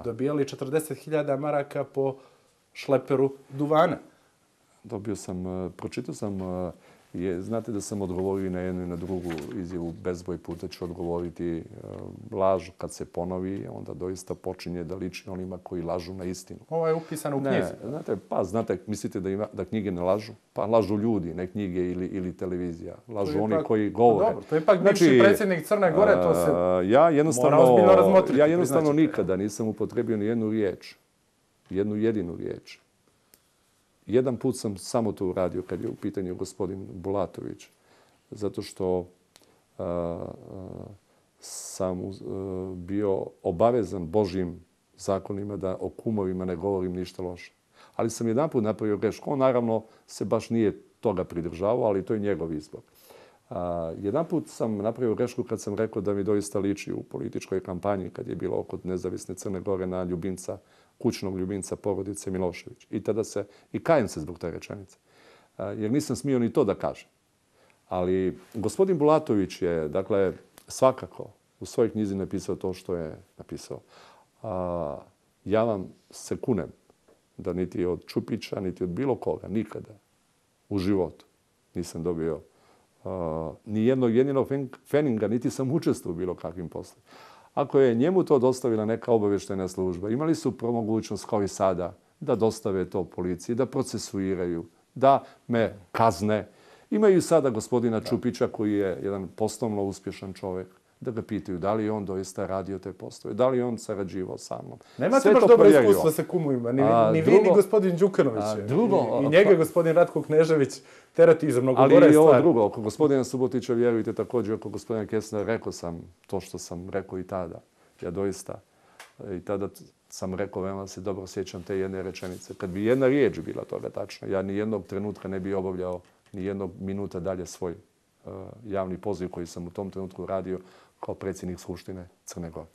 dobijali 40.000 maraka po šleperu duvana. Pročitao sam, znate da sam odgovorio na jednu i na drugu izjavu, bezbroj puta ću odgovoriti laž kad se ponovi, onda doista počinje da liči onima koji lažu na istinu. Ovo je upisano u knjizi. Znate, mislite da knjige ne lažu? Pa lažu ljudi, ne knjige ili televizija. Lažu oni koji govore. Dobro, to je ipak bivši predsjednik Crne Gore, to se mora ozbiljno razmotriti. Ja jednostavno nikada nisam upotrebio ni jednu riječ, jednu jedinu riječ. Jedan put sam samo to uradio kad je u pitanju gospodin Bulatović, zato što sam bio obavezan Božjim zakonima da o kumovima ne govorim ništa loše. Ali sam jedan put napravio grešku. On naravno se baš nije toga pridržavao, ali to je njegov izbor. Jedan put sam napravio grešku kad sam rekao da mi doista liči u političkoj kampanji kad je bilo oko nezavisne Crne Gore na ljubimca, kućnog ljubimca porodice Milošević. I kajem se zbog te rečenice. Jer nisam smio ni to da kažem. Ali gospodin Bulatović je, dakle, svakako u svojoj knjizi napisao to što je napisao. Ja vam se kunem da niti od Ćupića, niti od bilo koga, nikada u životu nisam dobio ni jednog jedinog feninga, niti sam učestvovao u bilo kakvim poslom. Ako je njemu to dostavila neka obavještajna služba, imali su mogućnost kao i sada da dostave to policiji, da procesuiraju, da me kazne. Imaju sada gospodina Ćupića koji je jedan poslovno uspješan čovjek, da ga pitaju da li je on doista radio te poslove, da li je on sarađivao sa mnom. Nemate baš dobro iskustva sa kumovima, ni vi, ni gospodin Đukanović. I njega gospodin Ratko Knežević terati za mnogo gore stvari. Ali i ovo drugo, oko gospodina Subotića, vjerujte također, oko gospodina Kestnera, rekao sam to što sam rekao i tada. Ja doista, i tada sam rekao, veoma se dobro sjećam te jedne rečenice. Kad bi jedna riječ bila toga tačna, ja ni jednog trenutka ne bi obavljao ni jednog minuta dalje svoj javni poziv koji sam u tom trenutku radio kao predsjednik Skupštine Crne Gore.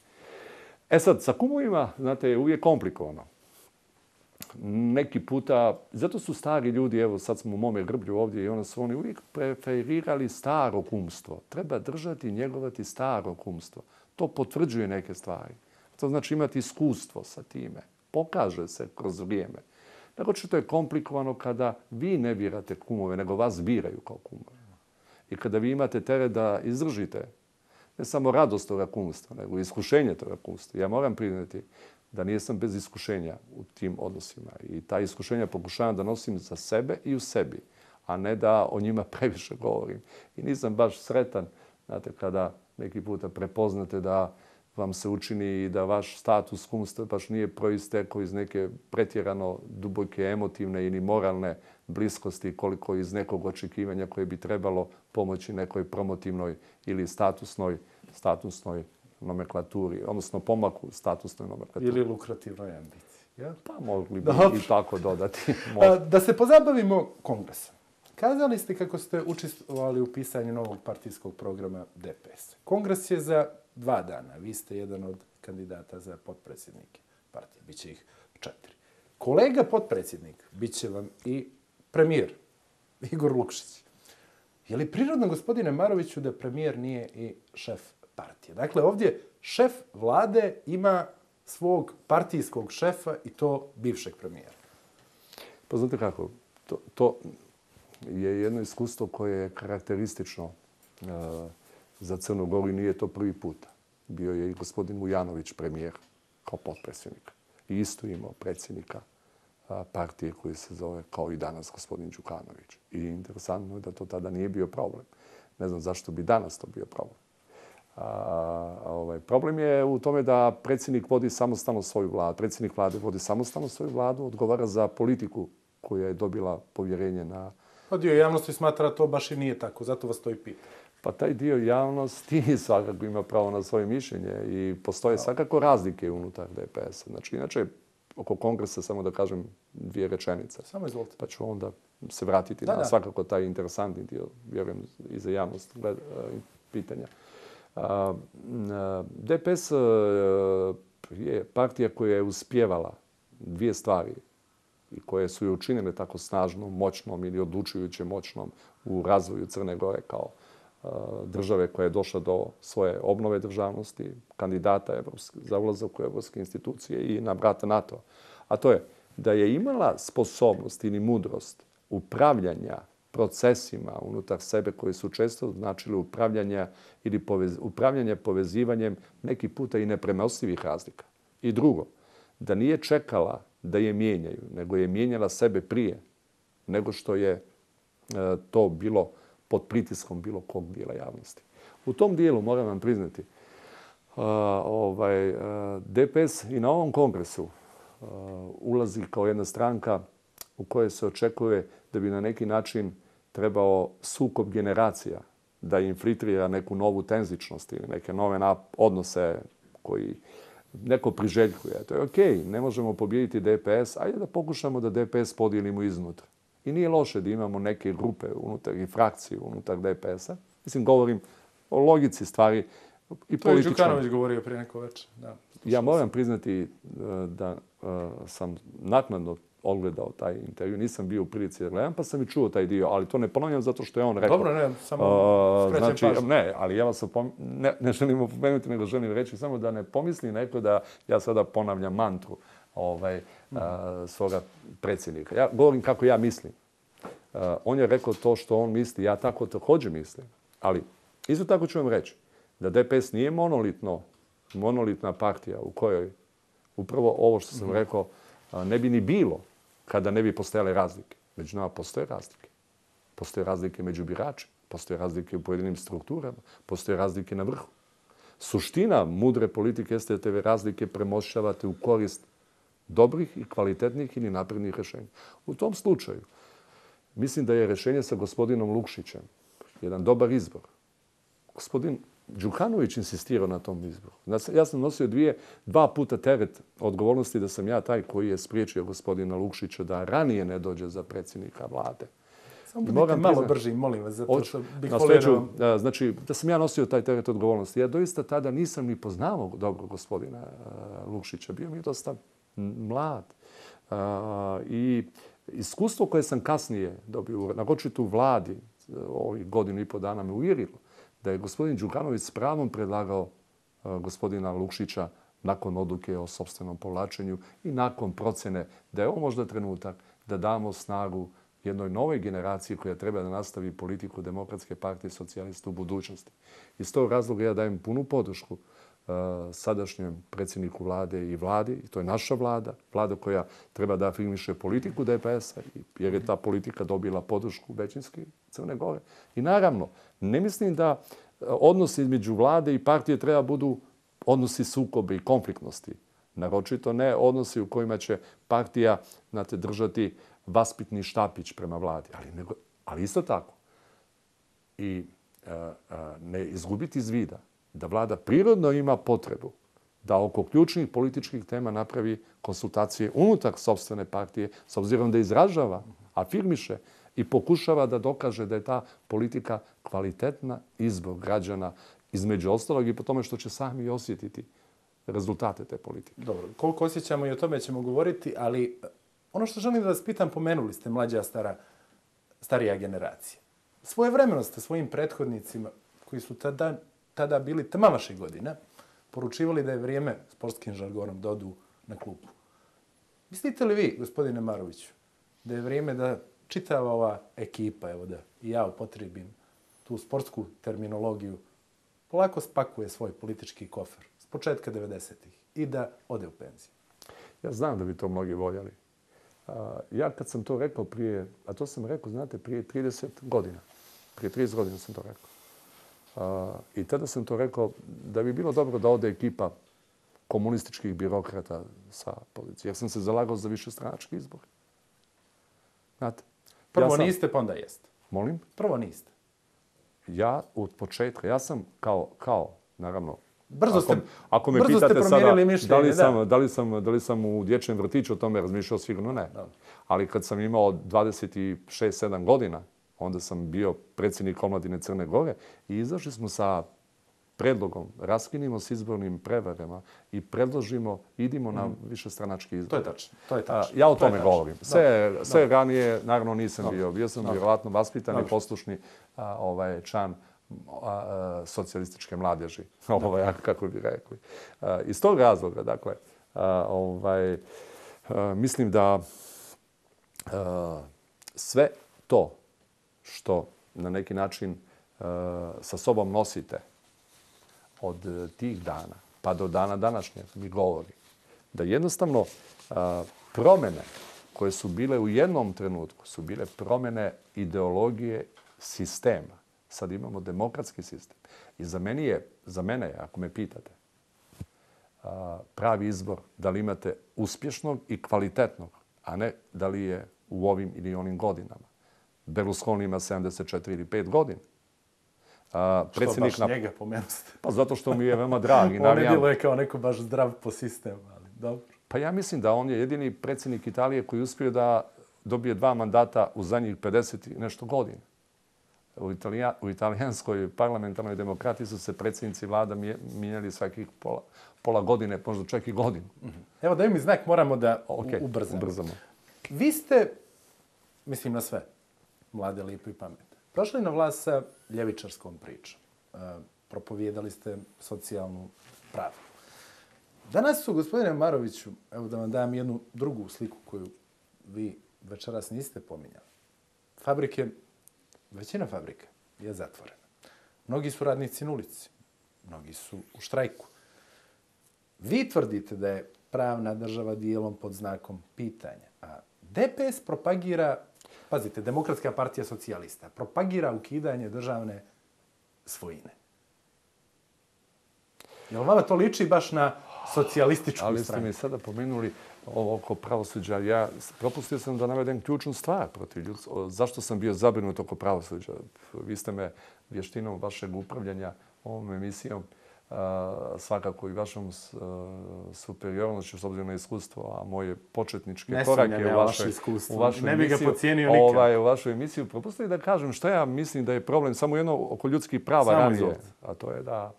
Sad, sa kumovima, znate, je uvijek komplikovano. Neki puta, zato su stari ljudi, evo sad smo u mome grblju ovdje i su oni uvijek preferirali staro kumstvo. Treba držati i njegovati staro kumstvo. To potvrđuje neke stvari. To znači imati iskustvo sa time. Pokaže se kroz vrijeme. Naročito je komplikovano kada vi ne birate kumove, nego vas biraju kao kumove. I kada vi imate teret da izdržite ne samo radost toga kumstva, nego i iskušenje toga kumstva. Ja moram priznati da nisam bez iskušenja u tim odnosima. I ta iskušenja pokušavam da nosim za sebe i u sebi, a ne da o njima previše govorim. I nisam baš sretan, znate, kada neki puta prepoznate da vam se učini da vaš status kumstva baš nije proistekao iz neke pretjerano duboke emotivne ili moralne bliskosti koliko iz nekog očekivanja koje bi trebalo pomoći nekoj promotivnoj ili statusnoj nomenklaturi, odnosno pomaku statusnoj nomenklaturi. Ili lukrativnoj ambiciji. Ja? Pa mogli bi i tako dodati. Da se pozabavimo kongresom. Kazali ste kako ste učestvovali u pisanju novog partijskog programa DPS. Kongres je za 2 dana. Vi ste jedan od kandidata za potpredsjednike partije. Biće ih 4. Kolega potpredsjednik biće vam i premijer, Igor Lukšić. Je li prirodno, gospodine Maroviću, da premijer nije i šef partije? Dakle, ovdje šef vlade ima svog partijskog šefa i to bivšeg premijera. Pa znate kako, to je jedno iskustvo koje je karakteristično za Crnu Goru i nije to prvi puta. Bio je i gospodin Vujanović premijer kao potpredsjednik. I isto imao predsjednika partije koji se zove kao i danas gospodin Đukanović. I interesantno je da to tada nije bio problem. Ne znam zašto bi danas to bio problem. Problem je u tome da predsjednik vodi samostalno svoju vladu. Predsjednik vlade vodi samostalno svoju vladu, odgovara za politiku koja je dobila povjerenje na... Pa dio javnosti smatra to baš i nije tako, zato vas to i pita. Pa taj dio javnosti svakako ima pravo na svoje mišljenje i postoje svakako razlike unutar DPS-a. Znači, inače, oko kongresa samo da kažem 2 rečenice. Samo izvolite. Pa ću onda se vratiti na svakako taj interesantni dio, vjerujem, i za javnost pitanja. DPS je partija koja je uspjevala 2 stvari i koje su je učinile tako snažnom, moćnom ili odlučujuće moćnom u razvoju Crne Gore kao države koja je došla do svoje obnove državnosti, kandidata za ulazak u evropske institucije i na vrata NATO. A to je da je imala sposobnost ili mudrost upravljanja procesima unutar sebe koji su često značili upravljanje povezivanjem neki puta i nepremostivih razlika. I drugo, da nije čekala da je mijenjaju, nego je mijenjala sebe prije nego što je to bilo pod pritiskom bilo kog dijela javnosti. U tom dijelu, moram vam priznati, DPS i na ovom kongresu ulazi kao jedna stranka u kojoj se očekuje da bi na neki način trebao sukob generacija da infiltrira neku novu tenzičnost ili neke nove odnose koji neko priželjkuje. To je okej, ne možemo pobijediti DPS, ajde da pokušamo da DPS podijelimo iznutra. I nije loše da imamo neke grupe unutar i frakcije unutar DPS-a. Mislim, govorim o logici stvari i političkom. To je Đukanović govorio prije neko večer. Ja moram priznati da sam naknadno odgledao taj intervju. Nisam bio u prilici da gledam, pa sam i čuo taj dio, ali to ne ponavljam zato što je on rekao. Dobro, ne, samo skrećem pažnju. Ne, ali ja vas ne želim opomenuti, nego želim reći samo da ne pomisli neko da ja sada ponavljam mantru svoga predsjednika. Ja govorim kako ja mislim. On je rekao to što on misli, ja tako također mislim. Ali isto tako ću vam reći da DPS nije monolitna partija u kojoj upravo ovo što sam rekao ne bi ni bilo kada ne bi postojale razlike. Među nama postoje razlike. Postoje razlike među biračima, postoje razlike u pojedinim strukturama, postoje razlike na vrhu. Suština mudre politike jeste da te razlike premošćavate u korist dobrih i kvalitetnih ili naprednih rješenja. U tom slučaju mislim da je rješenje sa gospodinom Lukšićem jedan dobar izbor. Gospodin Đukanović insistirao na tom izboru. Ja sam nosio 2 puta teret odgovornosti da sam ja taj koji je spriječio gospodina Lukšića da ranije ne dođe za predsjednika vlade. Samo budite malo brži, molim vas, zato što bih volio... Znači, da sam ja nosio taj teret odgovornosti. Ja doista tada nisam ni poznavao dobro gospodina Lukšića. Bio mi je dosta mlad. I iskustvo koje sam kasnije dobio, naročito u vladi, ovih 1,5 dana me uvjerilo da je gospodin Đukanović s pravom predlagao gospodina Lukšića nakon odluke o sopstvenom povlačenju i nakon procjene da je ovo možda trenutak da damo snagu jednoj novoj generaciji koja treba da nastavi politiku Demokratske partije socijalista u budućnosti. Iz tog razloga ja dajem punu podršku sadašnjem predsjedniku vlade i vladi, i to je naša vlada, vlada koja treba da afirmiše politiku DPS-a, jer je ta politika dobila podršku većinski Crne Gore. I naravno, ne mislim da odnosi između vlade i partije treba budu odnosi sukobe i konfliktnosti. Naročito ne odnosi u kojima će partija držati vaspitni štapić prema vladi. Ali isto tako i ne izgubiti iz vida da vlada prirodno ima potrebu da oko ključnih političkih tema napravi konsultacije unutar sopstvene partije, s obzirom da izražava, afirmiše i pokušava da dokaže da je ta politika kvalitetna izbor građana, između ostalog i po tome što će sami osjetiti rezultate te politike. Dobro, koliko osjećamo i o tome ćemo govoriti, ali ono što želim da vas pitam, pomenuli ste mlađa, starija generacija. Svojevremeno ste svojim prethodnicima, koji su tada bili tama vaše godine, poručivali da je vrijeme, sportskim žargonom, da odu na klupu. Mislite li vi, gospodine Maroviću, da je vrijeme da čitava ova ekipa, evo da i ja upotrijebim tu sportsku terminologiju, polako spakuje svoj politički kofer s početka 90-ih i da ode u penziju? Ja znam da bi to mnogi voljeli. Ja kad sam to rekao prije, a to sam rekao, znate, prije 30 godina. Prije 30 godina sam to rekao. I tada sam to rekao da bi bilo dobro da ode ekipa komunističkih birokrata sa policije. Jer sam se zalagao za višestranački izbor. Znate? Prvo niste, pa onda jeste. Molim? Prvo niste. Ja od početka, ja sam kao naravno, brzo ste promijenili mišljenje. Da li sam u dječjem vrtiću o tome razmišljao, sigurno ne. Da. Ali kad sam imao 26-7 godina, onda sam bio predsjednik omladine Crne Gore i izašli smo sa predlogom, raskinimo s izbornim prevarama i predložimo, idimo na višestranački izbor. To je tačno. Ja o tome govorim. Sve ranije, naravno, nisam bio. Bio sam vjerovatno vaspitan i poslušni član socijalističke mladeži, kako bi rekli. Iz tog razloga, dakle, mislim da sve to što na neki način sa sobom nosite od tih dana pa do dana današnjeg mi govori da jednostavno promjene koje su bile u jednom trenutku su bile promjene ideologije sistema. Sad imamo demokratski sistem. I za mene je, ako me pitate, pravi izbor da li imate uspješnog i kvalitetnog, a ne da li je u ovim ili onim godinama. Berlusconi ima 74 ili 5 godina. Što baš njega pomenuste? Pa zato što mi je veoma drag. On ne djeluje kao neko baš zdrav po sistemu, ali dobro. Pa ja mislim da on je jedini predsjednik Italije koji uspio da dobije 2 mandata u zadnjih 50 i nešto godina. U italijanskoj parlamentarnoj demokratiji su se predsjednici vlada mijenjali svakih pola godine, možda čak i godinu. Evo daj mi znak, moramo da ubrzamo. Vi ste, mislim na sve, mlade, lipo i pametne, došli na vlast sa ljevičarskom pričom. Propovijedali ste socijalnu pravdu. Danas su, gospodine Maroviću, evo da vam dam jednu drugu sliku koju vi večeras niste pominjali. Većina fabrika je zatvorena. Mnogi su radnici na ulici. Mnogi su u štrajku. Vi tvrdite da je pravna država dijelom pod znakom pitanja. A DPS propagira, pazite, Demokratska partija socijalista, propagira ukidanje državne svojine. Jel vama to liči baš na socijalističku stranu? Ali ste mi sada pomenuli ovo oko pravosuđa. Propustio sam da navedem ključnu stvar protiv ljudstva. Zašto sam bio zabrinut oko pravosuđa? Vi ste me vještinom vašeg upravljanja ovom emisijom, svakako i vašom superiornošću s obzirom na iskustvo, a moje početničke korake u vašoj emisiji propustili da kažem što ja mislim da je problem samo jedno oko ljudskih prava ranije. A to je da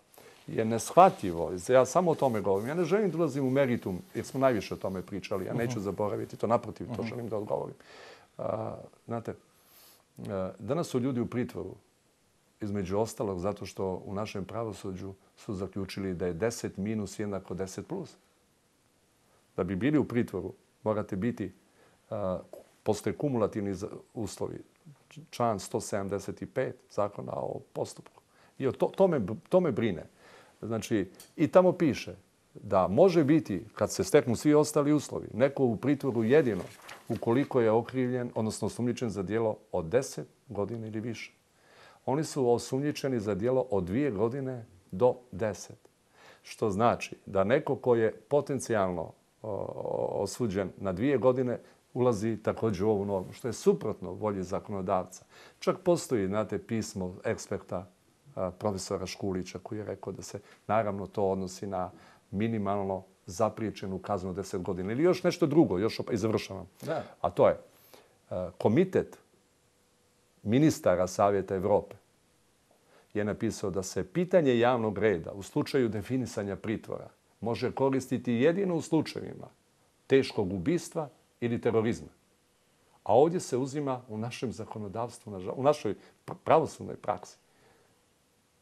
je neshvatljivo. Ja samo o tome govorim. Ja ne želim da ulazim u meritum, jer smo najviše o tome pričali. Ja neću zaboraviti to, naprotiv, to želim da odgovorim. Znate, danas su ljudi u pritvoru, između ostalog, zato što u našem pravosuđu su zaključili da je 10 minus jednako 10 plus. Da bi bili u pritvoru, morate biti, postoje kumulativni uslovi. Član 175 zakona o postupku. I to me brine. Znači, i tamo piše da može biti, kad se steknu svi ostali uslovi, neko u pritvoru jedino ukoliko je okrivljen, odnosno osumnjičen za djelo od 10 godina ili više. Oni su osumnjičeni za djelo od 2 godine do 10. Što znači da neko ko je potencijalno osuđen na 2 godine ulazi također u ovu normu, što je suprotno volji zakonodavca. Čak postoji, znate, pismo eksperta profesora Škulića koji je rekao da se naravno to odnosi na minimalno zapriječenu kaznu 10 godina ili još nešto drugo, i završavam. Da. A to je komitet ministara Savjeta Evrope je napisao da se pitanje javnog reda u slučaju definisanja pritvora može koristiti jedino u slučajevima teškog ubistva ili terorizma. A ovdje se uzima u našem zakonodavstvu, u našoj pravosudnoj praksi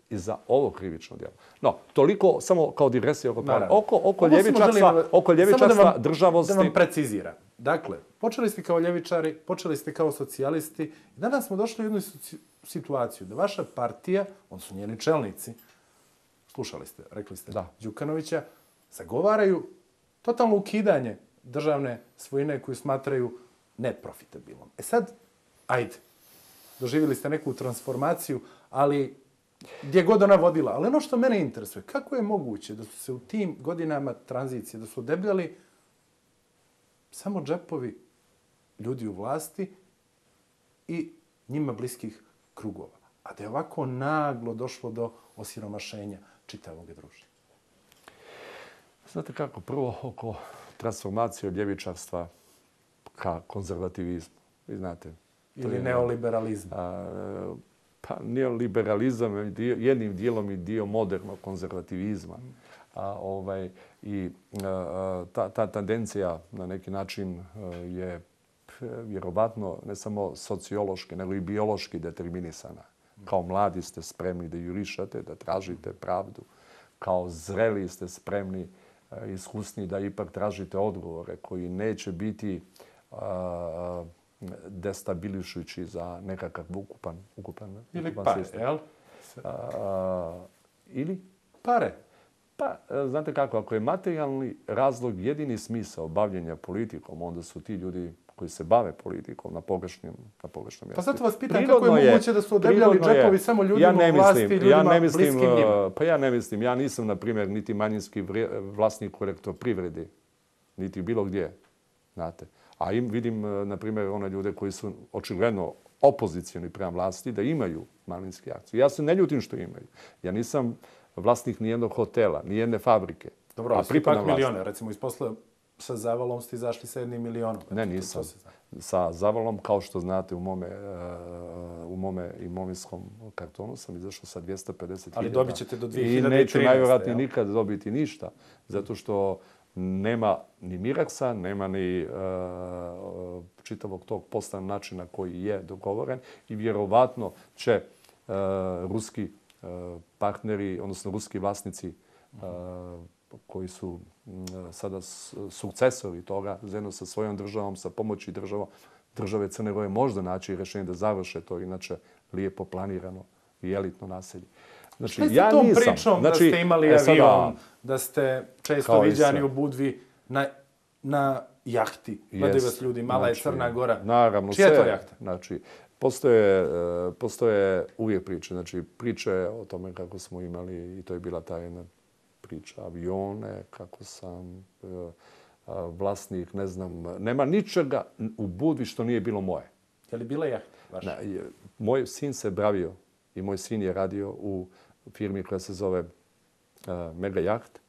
i za ovo krivično djelo. No, toliko samo kao digresija oko ljevičarstva, državosti. Da vam preciziram. Dakle, počeli ste kao ljevičari, počeli ste kao socijalisti i danas smo došli u jednu situaciju da vaša partija, odnosno njeni čelnici, slušali ste, rekli ste Đukanovića, zagovaraju totalno ukidanje državne svojine koju smatraju neprofitabilnom. E sad, ajde, doživjeli ste neku transformaciju, ali gdje god ona vodila. Ali ono što mene interesuje, kako je moguće da su se u tim godinama tranzicije, da su odebljali samo džepovi ljudi u vlasti i njima bliskih krugova. A da je ovako naglo došlo do osiromašenja čitavog društva. Znate kako, prvo oko transformacije od ljevičarstva ka konzervativizmu. Vi znate. Ili neoliberalizmu. Pa neoliberalizam je jednim dijelom i dio modernog konzervativizma. I ta tendencija na neki način je vjerovatno ne samo sociološki, nego i biološki determinisana. Kao mladi ste spremni da jurišate, da tražite pravdu. Kao zreli ste spremni, iskusni da ipak tražite odgovore koji neće biti destabilišujući za nekakav ukupan ili pare, sistem. jel? Ili? Pare. Pa, znate kako, ako je materijalni razlog jedini smisao bavljenja politikom, onda su ti ljudi koji se bave politikom na pogrešnom mjestu. Pa zato vas pitam kako je moguće da su odebljali džepovi samo ljudima u vlasti i ljudima bliskim njima. Pa ja ne mislim. Ja nisam, na primjer, niti manjinski vlasnik u Elektroprivredi, niti bilo gdje. Znate. A vidim, na primjer, one ljude koji su očigledno opozicijoni prema vlasti da imaju manjinske akcije. Ja se ne ljutim što imaju. Ja nisam vlasnik nijednog hotela, nijedne fabrike. Dobro, ali svi pak milijone. Recimo, iz posla sa Zavalom ste izašli sa 1 milionom. Ne, nisam. Sa Zavalom, kao što znate, u mome imovinskom kartonu sam izašao sa 250.000. Ali dobit ćete do 2013. I neću najvjerojatnije nikad dobiti ništa. Zato što nema ni Miraksa, nema ni čitavog tog poslovnog načina koji je dogovoren i vjerovatno će ruski partneri, odnosno ruski vlasnici koji su sada sukcesori toga, zajedno sa svojom državom, sa pomoći države Crne Gore, možda naći rješenje da završe to inače lijepo planirano i elitno naselje. Znači, ja tom pričom da ste imali avion, da ste često viđani u Budvi na jahti. Gledaju vas ljudi, mala je Crna Gora. Naravno, čija je to jahta? Znači, postoje uvijek priče. Znači, priče o tome kako smo imali, i to je bila ta jedna priča, avione, kako sam vlasnik, ne znam, nema ničega u Budvi što nije bilo moje. Je li bila jahta vaša? Moj sin se bavio i moj sin je radio u firmi koja se zove Mega Yacht,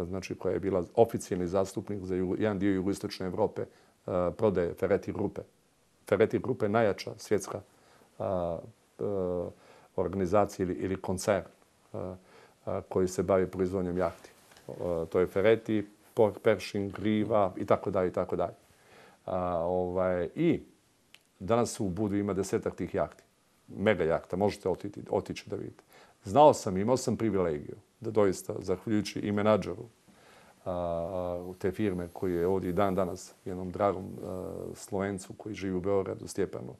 znači koja je bila oficijalni zastupnik za jedan dio jugoistočne Evrope, prodaje Ferretti Grupe. Ferretti Grupe je najjača svjetska organizacija ili koncern koji se bavi proizvodnjom jahti. To je Ferretti, Pershing, Riva i tako dalje i tako dalje. I danas u Budvi ima 10-ak tih jahti. Mega jahta, možete otići da vidite. Znao sam, imao sam privilegiju da doista, zahvaljujući i menadžeru te firme koji je ovdje i dan danas jednom dragom Slovencu koji živi u Beogradu, Stjepanu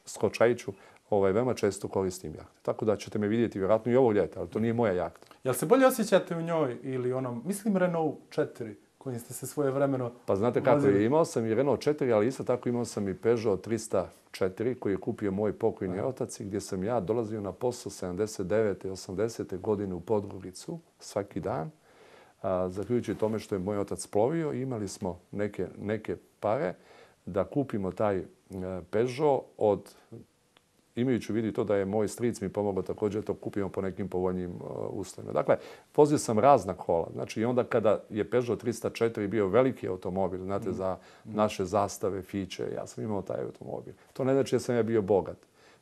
Skočajiću, veoma često koristim jahte. Tako da ćete me vidjeti vjerojatno i ovog ljeta, ali to nije moja jahta. Jel se bolje osjećate u njoj ili onom, mislim Renault 4 kojim ste se svojevremeno... Pa znate kako je, imao sam i Renault 4, ali isto tako imao sam i Peugeot 304 koji je kupio moj pokojni otac i gdje sam ja dolazio na posao 79. i 80. godine u Podgoricu svaki dan. Zahvaljujući tome što je moj otac plovio, imali smo neke pare da kupimo taj Peugeot imajući u vidu to da je moj stric mi pomogao također to kupimo po nekim povoljnijim uslovima. Dakle, vozio sam razna kola. Znači, i onda kada je Peugeot 304 bio veliki automobil, znate, za naše zastave, fiće, ja sam imao taj automobil. To ne znači da sam ja bio bogat.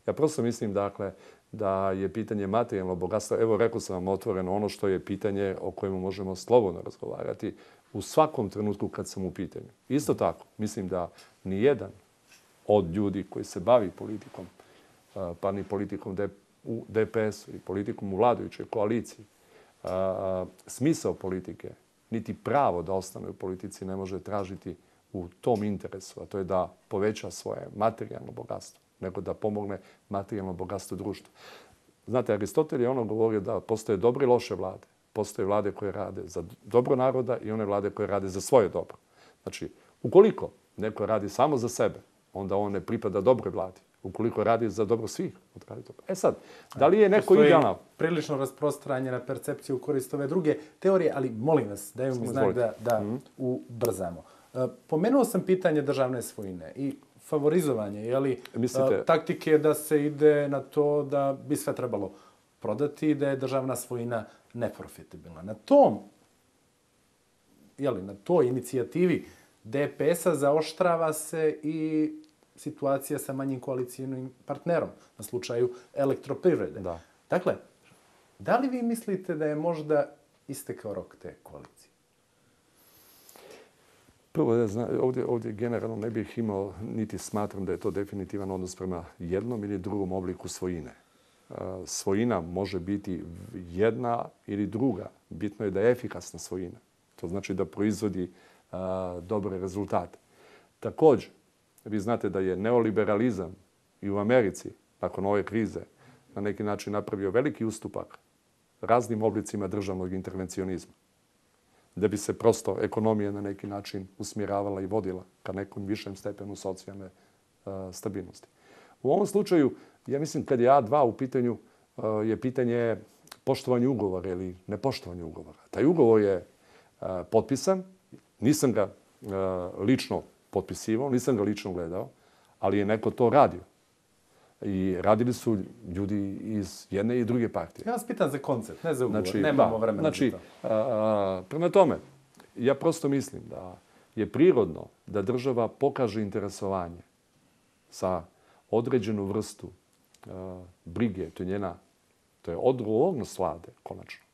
Ja prosto mislim, dakle, da je pitanje materijalnog bogatstva, evo rekao sam vam otvoreno ono što je pitanje o kojemu možemo slobodno razgovarati u svakom trenutku kad sam u pitanju. Isto tako, mislim da nijedan od ljudi koji se bavi politikom, pa ni politikom u DPS-u i politikom u vladajućoj koaliciji, smisao politike, niti pravo da ostane u politici ne može tražiti u tom interesu, a to je da poveća svoje materijalno bogatstvo, nego da pomogne materijalno bogatstvo društva. Znate, Aristotel je ono govorio da postoje dobre i loše vlade. Postoje vlade koje rade za dobro naroda i one vlade koje rade za svoje dobro. Znači, ukoliko neko radi samo za sebe, onda on ne pripada dobroj vladi. Ukoliko radi za dobro svih, odradi dobro. E sad, da li je neko idealan? Prilično rasprostranjena percepcija u korist ove druge teorije, ali molim vas, daju mi znak da ubrzamo. Pomenuo sam pitanje državne svojine i favorizovanje, taktike da se ide na to da bi sve trebalo prodati i da je državna svojina neprofitabilna. Na toj inicijativi DPS-a zaoštrava se i situacija sa manjim koalicijnim partnerom, na slučaju Elektroprivrede. Da. Dakle, da li vi mislite da je možda istekao rok te koalicije? Prvo, ovdje generalno ne bih imao, niti smatram da je to definitivan odnos prema jednom ili drugom obliku svojine. Svojina može biti jedna ili druga. Bitno je da je efikasna svojina. To znači da proizvodi dobre rezultate. Također, vi znate da je neoliberalizam i u Americi, nakon ove krize, na neki način napravio veliki ustupak raznim oblicima državnog intervencionizma. Da bi se prosto ekonomija na neki način usmjeravala i vodila ka nekom višem stepenu socijalne stabilnosti. U ovom slučaju, ja mislim kad je A2 u pitanju, je pitanje poštovanja ugovora ili nepoštovanja ugovora. Taj ugovor je potpisan, nisam ga lično potpisivao, nisam ga lično gledao, ali je neko to radio. I radili su ljudi iz jedne i druge partije. Ja vas pitam za koncept, ne za ugovor. Nemamo vremena za to. Prema tome, ja prosto mislim da je prirodno da država pokaže interesovanje za određenu vrstu brige, to je odgovornost vlade, konačno,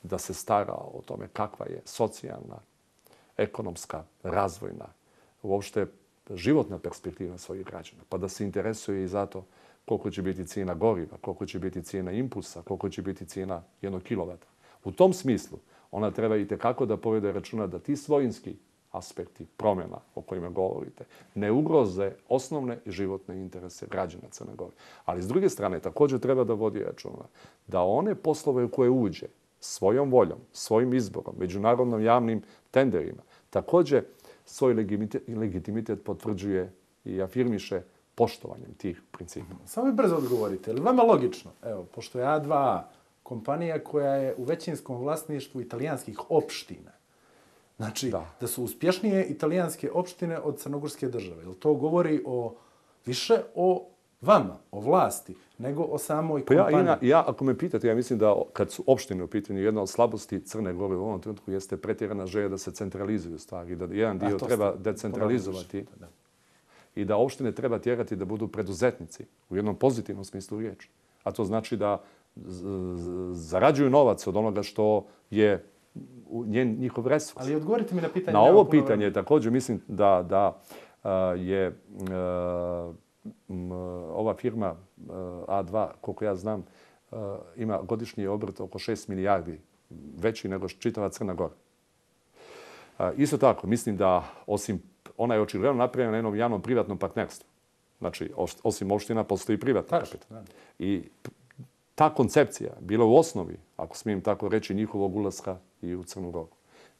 da se stara o tome kakva je socijalna, ekonomska, razvojna, uopšte životna perspektiva svojih građana, pa da se interesuje i zato koliko će biti cijena goriva, koliko će biti cijena impulsa, koliko će biti cijena 1 kilovata. U tom smislu ona treba i tekako da povede računa da ti svojinski aspekti promjena o kojima govorite ne ugroze osnovne i životne interese građana Crne Gore. Ali s druge strane također treba da vodi računa da one poslove u koje uđe svojom voljom, svojim izborom, međunarodnom javnim tenderima, također svoj legitimitet potvrđuje i afirmiše poštovanjem tih principa. Samo mi brzo odgovorite. Je li vama logično, evo, pošto je A2A kompanija koja je u većinskom vlasništvu italijanskih opština, znači da su uspješnije italijanske opštine od crnogorske države. Jel to govori više o vama, o vlasti, nego o samoj kompaniji? Ako me pitate, ja mislim da kad su opštine u pitanju, jedna od slabosti Crne Gore u ovom trenutku jeste pretjerana želja da se centralizuju stvari, da jedan dio treba decentralizovati i da opštine treba tjerati da budu preduzetnici u jednom pozitivnom smislu riječi. A to znači da zarađuju novac od onoga što je njihov resurs. Ali odgovorite mi na pitanje. Na ovo pitanje također mislim da je ova firma A2, koliko ja znam, ima godišnji obrt oko 6 milijardi, veći nego čitava Crna Gora. Isto tako, mislim da ona je očigledno napravljena na jednom javnom-privatnom partnerstvu. Znači, osim opština postoji privatni kapital. I ta koncepcija bila u osnovi, ako smijem tako reći, njihovog ulaska i u Crnu Goru.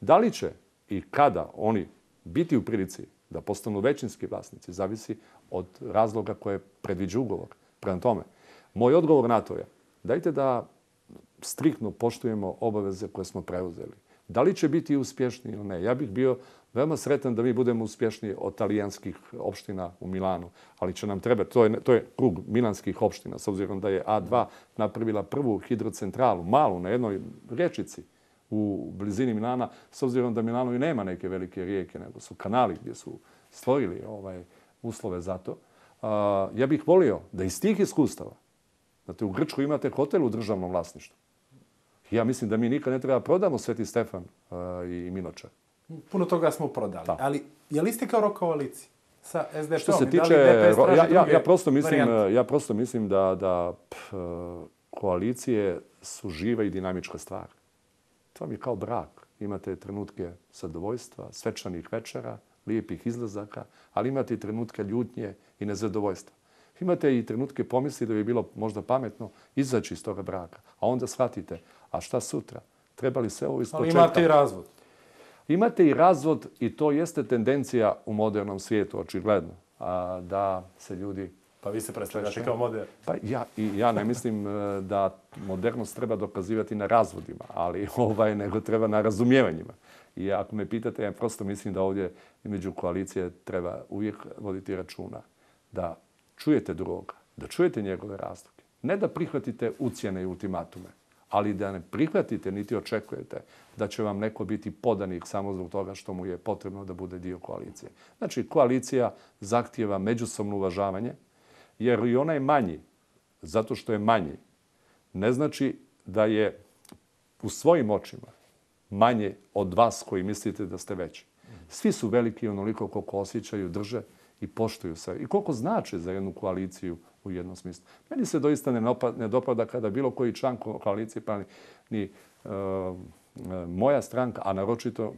Da li će i kada oni biti u prilici da postanu većinski vlasnici, zavisi od razloga koje predviđa ugovor. Prema tome, moj odgovor na to je dajte da striktno poštujemo obaveze koje smo preuzeli. Da li će biti uspješni ili ne? Ja bih bio veoma sretan da mi budemo uspješniji od talijanskih opština u Milanu, ali će nam trebati, to je krug milanskih opština, s obzirom da je A2 napravila prvu hidrocentralu, malu, na jednoj rječici u blizini Milana, s obzirom da Milano i nema neke velike rijeke, nego su kanali gdje su stvorili uslove za to. Ja bih volio da iz tih iskustava, znate, u Grčkoj imate hotel u državnom vlasništvu. Ja mislim da mi nikad ne treba prodamo Sveti Stefan i Minočar. Puno toga smo prodali. Da. Ali je li ste kao rok koaliciji sa SDP-om? Što se tiče, ja prosto mislim da koalicije su živa i dinamička stvar. To mi je kao brak. Imate trenutke zadovoljstva, svečanih večera, lijepih izlazaka, ali imate i trenutke ljutnje i nezadovoljstva. Imate i trenutke pomisli da bi bilo možda pametno izaći iz toga braka. A onda shvatite, a šta sutra? Treba li se ovo ispočetka? Ali imate i razvod. Imate i razvod i to jeste tendencija u modernom svijetu, očigledno. Da se ljudi... Pa vi se predstavljate kao modern. Pa ja ne mislim da modernost treba dokazivati na razvodima, ali nego treba na razumijevanjima. I ako me pitate, ja prosto mislim da ovdje među koalicije treba uvijek voditi računa da čujete drugoga, da čujete njegove razloge. Ne da prihvatite ucjene i ultimatume, ali da ne prihvatite niti očekujete da će vam neko biti podanik samo zbog toga što mu je potrebno da bude dio koalicije. Znači, koalicija zahtijeva međusobno uvažavanje, jer i onaj manji, zato što je manji, ne znači da je u svojim očima manje od vas koji mislite da ste veći. Svi su veliki onoliko koliko osjećaju, drže i poštuju se. I koliko znače za jednu koaliciju u jednom smislu. Meni se doista ne dopada kada bilo koji član koalicije, pa ni moja stranka, a naročito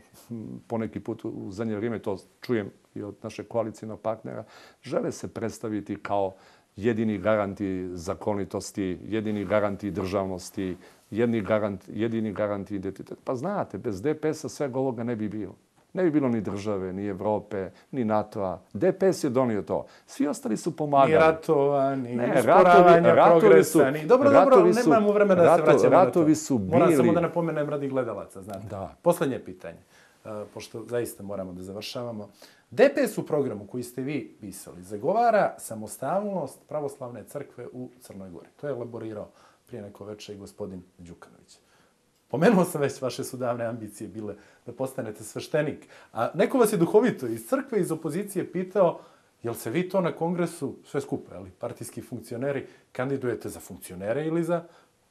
poneki put u zadnje vrijeme, to čujem i od našeg koalicijnog partnera, žele se predstaviti kao jedini garanti zakonitosti, jedini garanti državnosti, jedini garanti identiteta. Pa znate, bez DPS-a svega ovoga ne bi bilo. Ne bi bilo ni države, ni Evrope, ni NATO-a. DPS je donio to. Svi ostali su pomagali. Ni ratova, ni usporavanja progresa. Dobro, nemamo vremena da se vraćamo na to. Moram samo da napomenem radi gledalaca. Znate. Da. Poslednje pitanje, pošto zaista moramo da završavamo. DPS u programu koji ste vi pisali zagovara samostalnost pravoslavne crkve u Crnoj Gori. To je elaborirao prije neko večer i gospodin Đukanović. Pomenuo sam već, vaše su davne ambicije bile da postanete sveštenik. A neko vas je duhovito iz crkve, iz opozicije pitao jel se vi to na kongresu, sve skupo, partijski funkcioneri, kandidujete za funkcionere ili za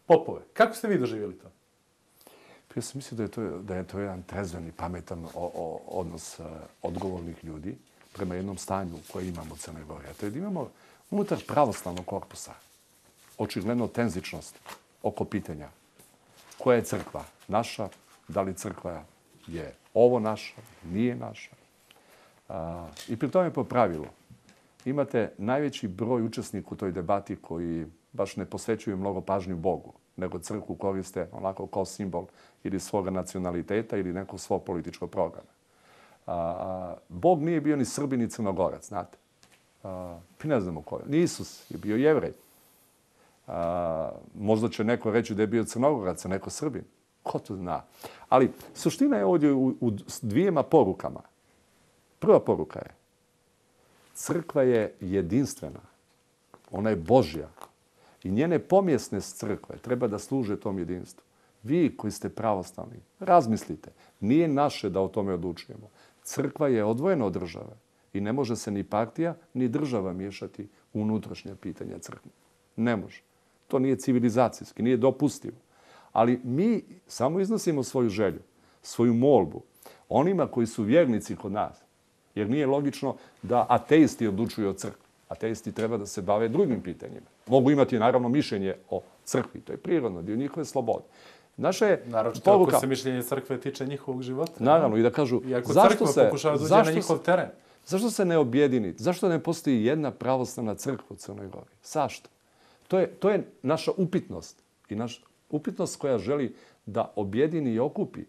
popove? Kako ste vi doživjeli to? Ja sam mislio da je to jedan trezven i pametan odnos odgovornih ljudi prema jednom stanju koje imamo u Crnoj Gori. A to je da imamo unutar pravoslavnog korpusa očigledno tenzičnost oko pitanja koja je crkva naša, da li crkva je ovo naša, nije naša. I pri tome po pravilu imate najveći broj učesnika u toj debati koji baš ne posvećuju mnogo pažnju Bogu, nego crkvu koriste onako kao simbol ili svoga nacionaliteta ili nekog svog političkog programa. Bog nije bio ni Srbin ni Crnogorac, znate. Ne znamo ko je. Ni Isus je bio Jevrej. Možda će neko reći da je bio Crnogorac, a neko Srbin. Ko to zna? Ali suština je ovdje u dvijema porukama. Prva poruka je crkva je jedinstvena. Ona je Božja. I njene pomjesne crkve treba da služe tom jedinstvu. Vi koji ste pravoslavni, razmislite. Nije naše da o tome odlučujemo. Crkva je odvojena od države i ne može se ni partija, ni država miješati u unutrašnja pitanja crkve. Ne može. To nije civilizacijski, nije dopustivo. Ali mi samo iznosimo svoju želju, svoju molbu onima koji su vjernici kod nas. Jer nije logično da ateisti odlučuju o crkvi. Ateisti treba da se bave drugim pitanjima. Mogu imati naravno mišljenje o crkvi. To je prirodno, dio njihove slobode. Naša je naročito ako se mišljenje crkve tiče njihovog života. Naravno, i da kažu zašto se pokušava da uđe na njihov teren. Zašto se ne objedini? Zašto ne postoji jedna pravoslavna crkva u Crnoj Gori? Zašto? To je naša upitnost. I naša upitnost koja želi da objedini i okupi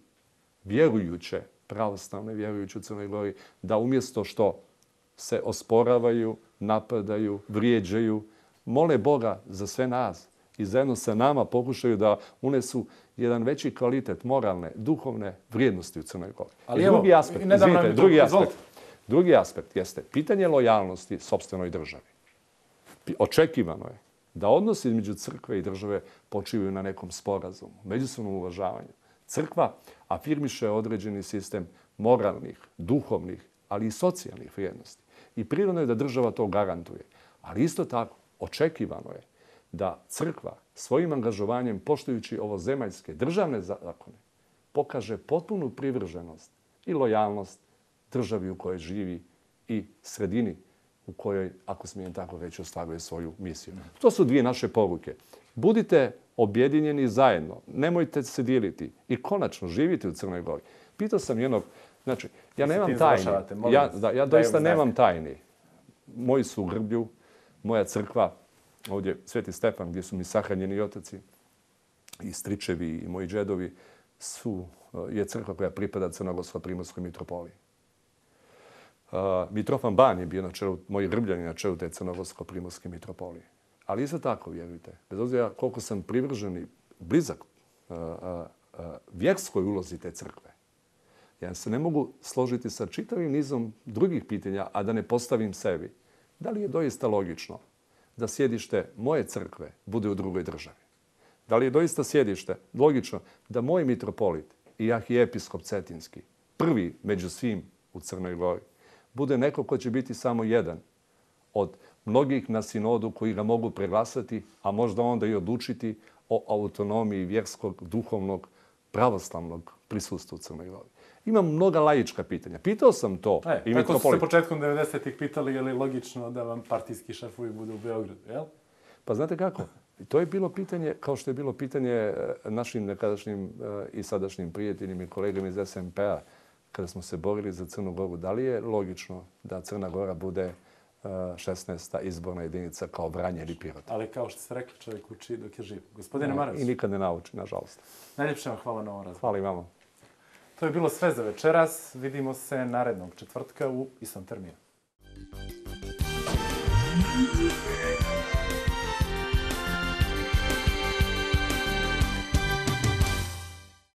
vjerujuće pravoslavne vjerujući u Crnoj Gori, da umjesto što se osporavaju, napadaju, vrijeđaju, mole Boga za sve nas i zajedno sa nama pokušaju da unesu jedan veći kvalitet moralne, duhovne vrijednosti u Crnoj Gori. Ali drugi aspekt jeste pitanje lojalnosti sopstvenoj državi. Očekivano je da odnosi između crkve i države počivaju na nekom sporazumu, međusobnom uvažavanju. Crkva afirmiše određeni sistem moralnih, duhovnih, ali i socijalnih vrijednosti. I prirodno je da država to garantuje. Ali isto tako, očekivano je da crkva svojim angažovanjem, poštujući ovozemaljske državne zakone, pokaže potpunu privrženost i lojalnost državi u kojoj živi i sredini u kojoj, ako smijem tako reći, ostvaruje svoju misiju. To su dvije naše poruke. Budite objedinjeni zajedno, nemojte se dijeliti i konačno živite u Crnoj Gori. Pitao sam jednog, znači, ja nemam tajni. Ja doista nemam tajni. Moji su u Grblju, moja crkva, ovdje Sveti Stefan, gdje su mi sahranjeni otaci, i stričevi i moji džedovi, je crkva koja pripada Crnogorsko-primorskoj mitropoliji. Mitrofan Ban je bio na čelu, moji Grbljani na čelu te Crnogorsko-primorske mitropolije. Ali isto tako, vjerujte, bez obzira koliko sam privržen i blizak vjerskoj ulozi te crkve, ja se ne mogu složiti sa čitavim nizom drugih pitanja, a da ne postavim sebi. Da li je doista logično da sjedište moje crkve bude u drugoj državi? Da li je doista sjedište logično da moj mitropolit i arhijepiskop Cetinski, prvi među svim u Crnoj Gori, bude neko ko će biti samo jedan od mnogih na sinodu koji ga mogu preglasati, a možda onda i odlučiti o autonomiji vjerskog, duhovnog, pravoslavnog prisustva u Crnoj Gori? Imam mnoga laička pitanja. Pitao sam to i mitropolit. Tako su se početkom 90-ih pitali je li logično da vam partijski šefovi budu u Beogradu, jel? Pa znate kako? To je bilo pitanje, kao što je bilo pitanje našim nekadašnjim i sadašnjim prijateljima i kolegama iz SMP-a, kada smo se borili za Crnu Goru. Da li je logično da Crna Gora bude 16. izborna jedinica kao Vranje ili Pirot? Ali kao što ste rekli, čovjek uči dok je živ. Gospodine Maras. I nikad ne nauči, nažalost. Najljepše vam hvala na ovom razgovoru. Hvala i vama. To je bilo sve za večeras. Vidimo se narednog četvrtka u istom terminu.